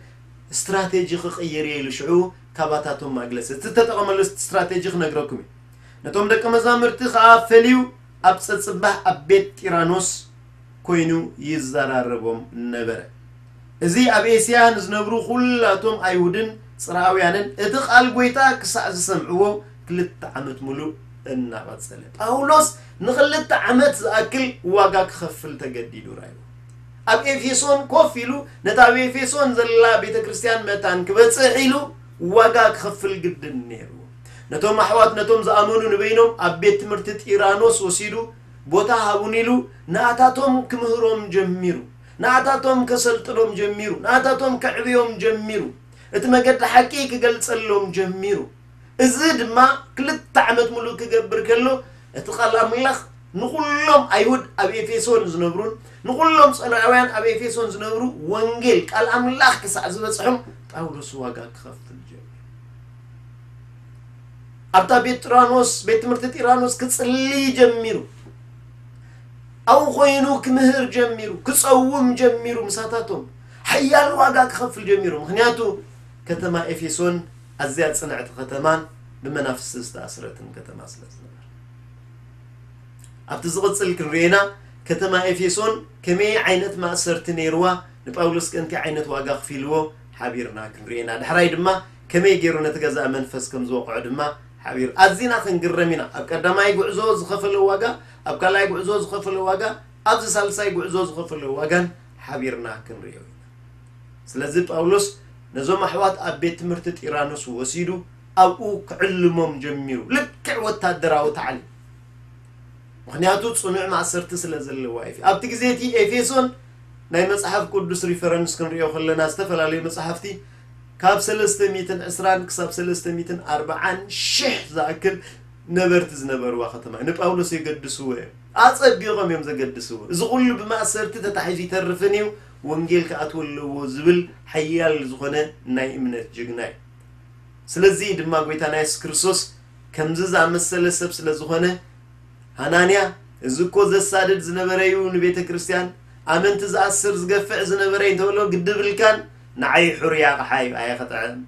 ስትራቴጂ ክቕይር እየ" ኢሉ ሽዑ ካባታቶም ኣግለሰ። እቲ ዝተጠቐመሉ ስትራቴጂ ክነግረኩም እዩ። ነቶም ደቀ መዛሙርቲ ኸኣ ፈልዩ ኣብ ጸጽባሕ ኣብ ቤት ጢራኖስ ኮይኑ ይዘራረቦም ነበረ። እዚ ኣብ ኤስያ ንዝነብሩ ኩላቶም ኣይሁድን ጽርኣውያንን እቲ ቃል ጐይታ ክሳዕ ዝሰምዕዎ ክልተ ዓመት ሙሉእ እናቐጸለ። ጳውሎስ ንኽልተ ዓመት ዝኣክል ዋጋ ክኸፍል ተገዲዱ ራእዩ። ኣብ ኤፌሶን ኮፍ ኢሉ ነታ ኣብ ኤፌሶን ዘላ ቤተ ክርስቲያን መታን ክበጽሕ ኢሉ ዋጋ ክኸፍል ግድን ነይሩ። ነቶም ኣሕዋት፣ ነቶም ዝኣመኑ ንበይኖም ኣብ ቤት ትምህርቲ ጢራኖስ ወሲዱ ቦታ ሃቡን ኢሉ ንኣታቶም ክምህሮም ጀሚሩ። ንኣታቶም ከሰልጥኖም ጀሚሩ። ንኣታቶም ከዕብዮም ጀሚሩ። እቲ መገዲ ሓቂ ክገልጸሎም ጀሚሩ። እዚ ድማ ክልተ ዓመት ሙሉእ ክገብር ከሎ፣ እቲ ቃል ኣምላኽ ንኹሎም ኣይሁድ ኣብ ኤፌሶን ዝነብሩን ንኹሎም ጸላእውያን ኣብ ኤፌሶን ዝነብሩ ወንጌል ቃል ኣምላኽ ክሳዕ ዝበጽሖም ጳውሎስ ዋጋ ክኸፍል ጀሚሩ። ኣብታ ቤት ጢራኖስ፣ ቤት ትምህርቲ ጢራኖስ ክጽሊ ጀሚሩ። ኣብኡ ኮይኑ ክምህር ጀሚሩ፣ ክጸውም ጀሚሩ። ምሳታቶም ሓያል ዋጋ ክኸፍል ጀሚሩ። ምኽንያቱ ከተማ ኤፌሶን ኣዝያ ጽንዕቲ ከተማን ብመናፍስቲ ዝተኣስረትን ከተማ ስለ ዝነበረ። ኣብቲ ዝቕጽል ክንርእየና፣ ከተማ ኤፌሶን ከመይ ዓይነት ማእሰርቲ ነይርዋ፣ ንጳውሎስ ከ እንታይ ዓይነት ዋጋ ክፊልዎ ሓቢርና ክንርእየና። ዳሕራይ ድማ ከመይ ገይሩ ነቲ ገዛእ መንፈስ ከም ዝወቕዖ ድማ ሓቢር። ኣዚና ክንግረም ኢና። ኣብ ቀዳማይ ጉዕዞ ዝኸፈለ ዋጋ፣ ኣብ ካልኣይ ጉዕዞ ዝኸፈለ ዋጋ፣ ኣብዚ ሳልሳይ ጉዕዞ ዝኸፈለ ዋጋን ሓቢርና ክንርእዮ ኢና። ስለዚ ጳውሎስ ነዞም ኣሕዋት ኣብ ቤት ትምህርቲ ጢራኖስ ወሲዱ ኣብኡ ክዕልሞም ጀሚሩ። ልክዕ ወታደራዊ ታዕሊም። ምኽንያቱ ጽኑዕ ማእሰርቲ ስለ ዘለዋ እዩ። ኣብቲ ግዜ እቲ ኤፌሶን ናይ መጽሓፍ ቅዱስ ሪፈረንስ ክንርእዮ ከለና ዝተፈላለዩ መጽሓፍቲ ካብ ሰለስተ ሚእትን ዕስራን ክሳብ ሰለስተ ሚእትን ኣርባዓን ሽሕ ዝኣክል ነበርቲ ዝነበርዋ ከተማ እዩ። ንጳውሎስ የገድስዎ እዮም። ኣጸቢቖም እዮም ዘገድስዎ። እዚ ኩሉ ብማእሰርቲ ተታሒዙ ይተርፍን እዩ፣ ወንጌል ክኣትዎ ኣለዎ ዝብል ሓያል ዝኾነ ናይ እምነት ጅግና እዩ። ስለዚ ድማ ጎይታና የሱስ ክርስቶስ ከምዚ ዝኣመሰለ ሰብ ስለ ዝኾነ፣ ሃናንያ፣ እዚ እኮ ዘሳድድ ዝነበረ እዩ ንቤተ ክርስቲያን፣ ኣመንቲ ዝኣስር ዝገፍዕ ዝነበረ እዩ እንተበሎ ግዲ ብልካን፣ ንዓይ ሕሩይ ኣቕሓ እዩ ኣየ ኸጥዕም፣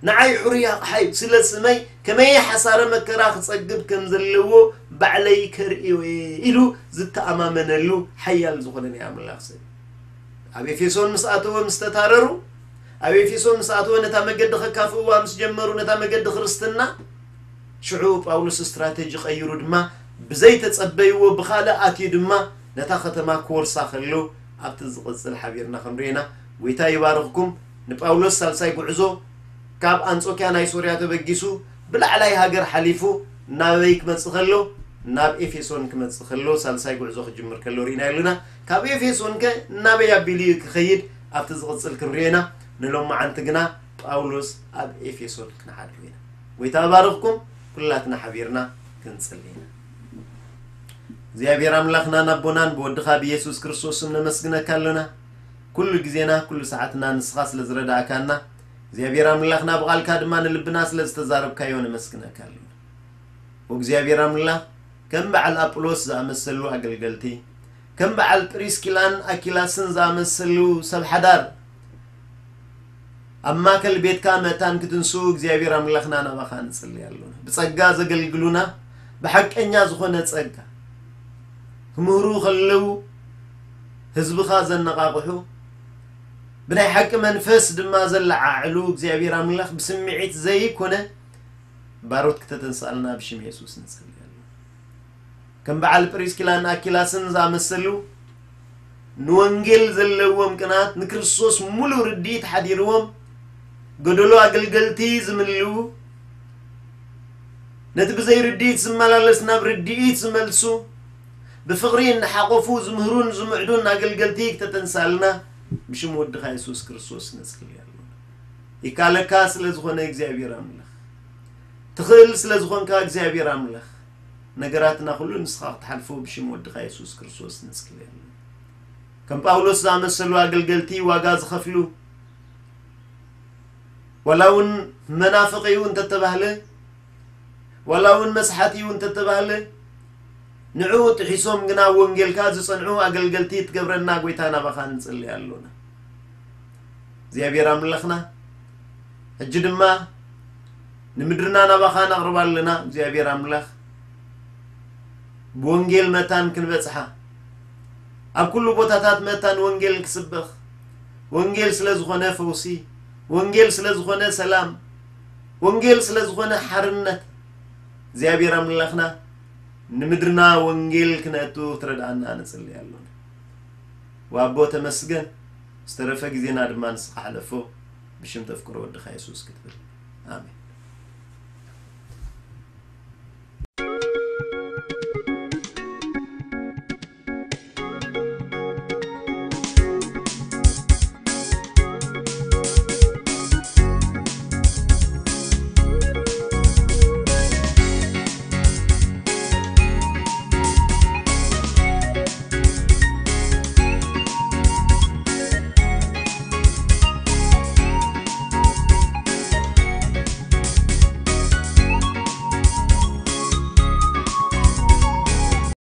ንዓይ ሕሩይ ኣቕሓ እዩ፣ ስለ ስመይ ከመይ ሓሳረ መከራ ክጸግብ ከም ዘለዎ ባዕለይ ከርእዮ እየ ኢሉ ዝተኣማመነሉ ሓያል ዝኾነ ናይ ኣምላኽ ሰብ። ኣብ ኤፌሶን ምስ ኣተወ ምስ ተታረሩ፣ ኣብ ኤፌሶን ምስ ኣተወ ነታ መገዲ ከካፍእዋ ምስ ጀመሩ፣ ነታ መገዲ ክርስትና፣ ሽዑ ጳውሎስ ስትራተጂ ቀይሩ ድማ ብዘይተጸበይዎ ብኻልእ ኣትዩ ድማ ነታ ከተማ ክወርሳ ከሎ ኣብቲ ዝቕጽል ሓቢርና ክንሪኤና። ጎይታ ይባርኽኩም። ንጳውሎስ ሳልሳይ ጉዕዞ ካብ ኣንጾኪያ ናይ ሶርያ ተበጊሱ ብላዕላይ ሃገር ሓሊፉ ናበይ ክመጽእ ከሎ፣ ናብ ኤፌሶን ክመጽእ ከሎ ሳልሳይ ጉዕዞ ክጅምር ከሎ ርኢና ኣለና። ካብ ኤፌሶን ከ ናበይ ኣቢሉ እዩ ክኸይድ ኣብቲ ዝቕጽል ክንሪኤና። ንሎማዓንቲ ግና ጳውሎስ ኣብ ኤፌሶን ክንሓድሮ ኢና። ጎይታ ባርኽኩም። ኩላትና ሓቢርና ክንጽሊ ኢና። እግዚኣብሔር ኣምላኽናን ኣቦናን ብወድኻ ብኢየሱስ ክርስቶስ ስም ነመስግነካ ኣሎና። ኩሉ ግዜና ኩሉ ሰዓትና ንስኻ ስለ ዝረዳእካና እግዚኣብሔር ኣምላኽና ብቓልካ ድማ ንልብና ስለ ዝተዛረብካዮ ነመስግነካ ኣሎና። እግዚኣብሔር ኣምላኽ ከም በዓል ኣጵሎስ ዝኣመሰሉ ኣገልገልቲ ከም በዓል ጵሪስኪላን ኣኪላስን ዝኣመሰሉ ሰብ ሓዳር ኣብ ማእከል ቤትካ መታን ክትንሱ እግዚኣብሔር ኣምላኽና ናባኻ ንጽሊ ኣሎና። ብጸጋ ዘገልግሉና ብሓቀኛ ዝኾነ ጸጋ ክምህሩ ከለዉ ህዝብኻ ዘነቓቕሑ ብናይ ሓቂ መንፈስ ድማ ዘለዓዕሉ እግዚኣብሔር ኣምላኽ ብስምዒት ዘይኮነ ባሮት ክተተንስኣልና ብሽም የሱስ ንጸሊ ኣሎና። ከም በዓል ፕሪስኪላን ኣኪላስን ዝኣመሰሉ ንወንጌል ዘለዎም ቅናት ንክርስቶስ ሙሉእ ርድኢት ሓዲርዎም ጎደሎ ኣገልገልቲ ዝምልኡ ነቲ ብዘይ ርድኢት ዝመላለስ ናብ ርድኢት ዝመልሱ ብፍቕሪ እናሓቆፉ ዝምህሩን ዝምዕዱን ኣገልገልቲ ክተተንሳልና ብሽም ወድኻ የሱስ ክርስቶስ ነጽሊ ኣለና። ይካለካ ስለ ዝኾነ እግዚኣብሔር ኣምላኽ ትኽእል ስለ ዝኾንካ እግዚኣብሔር ኣምላኽ ነገራትና ኩሉ ንስኻ ክትሓልፎ ብሽም ወድኻ የሱስ ክርስቶስ ንጽሊ ኣለና። ከም ጳውሎስ ዝኣመሰሉ ኣገልገልቲ ዋጋ ዝኸፍሉ ዋላ እውን መናፍቕ እዩ እንተተባህለ ዋላ እውን መስሓት እዩ እንተተባህለ ንዕኡ ጥሒሶም ግና ወንጌልካ ዝጸንዑ ኣገልገልቲ ትገብረና ጎይታ ናባኻ ንጽሊ ኣሎና። እግዚኣብሔር ኣምላኽና ሕጂ ድማ ንምድርና ናባኻ ነቕርባ ኣለና እግዚኣብሔር ኣምላኽ ብወንጌል መታን ክንበጽሓ ኣብ ኩሉ ቦታታት መታን ወንጌል ክስበኽ ወንጌል ስለ ዝኾነ ፈውሲ ወንጌል ስለ ዝኾነ ሰላም ወንጌል ስለ ዝኾነ ሓርነት እግዚኣብሔር ኣምላኽና ንምድርና ወንጌል ክነእቱ ክትረድኣና ንጽሊ ኣሎና። ዋቦ ተመስገን ዝተረፈ ግዜና ድማ ንስኻ ሓለፎ ብሽም ተፍቅሮ ወድኻ የሱስ ክትብል ኣሜን።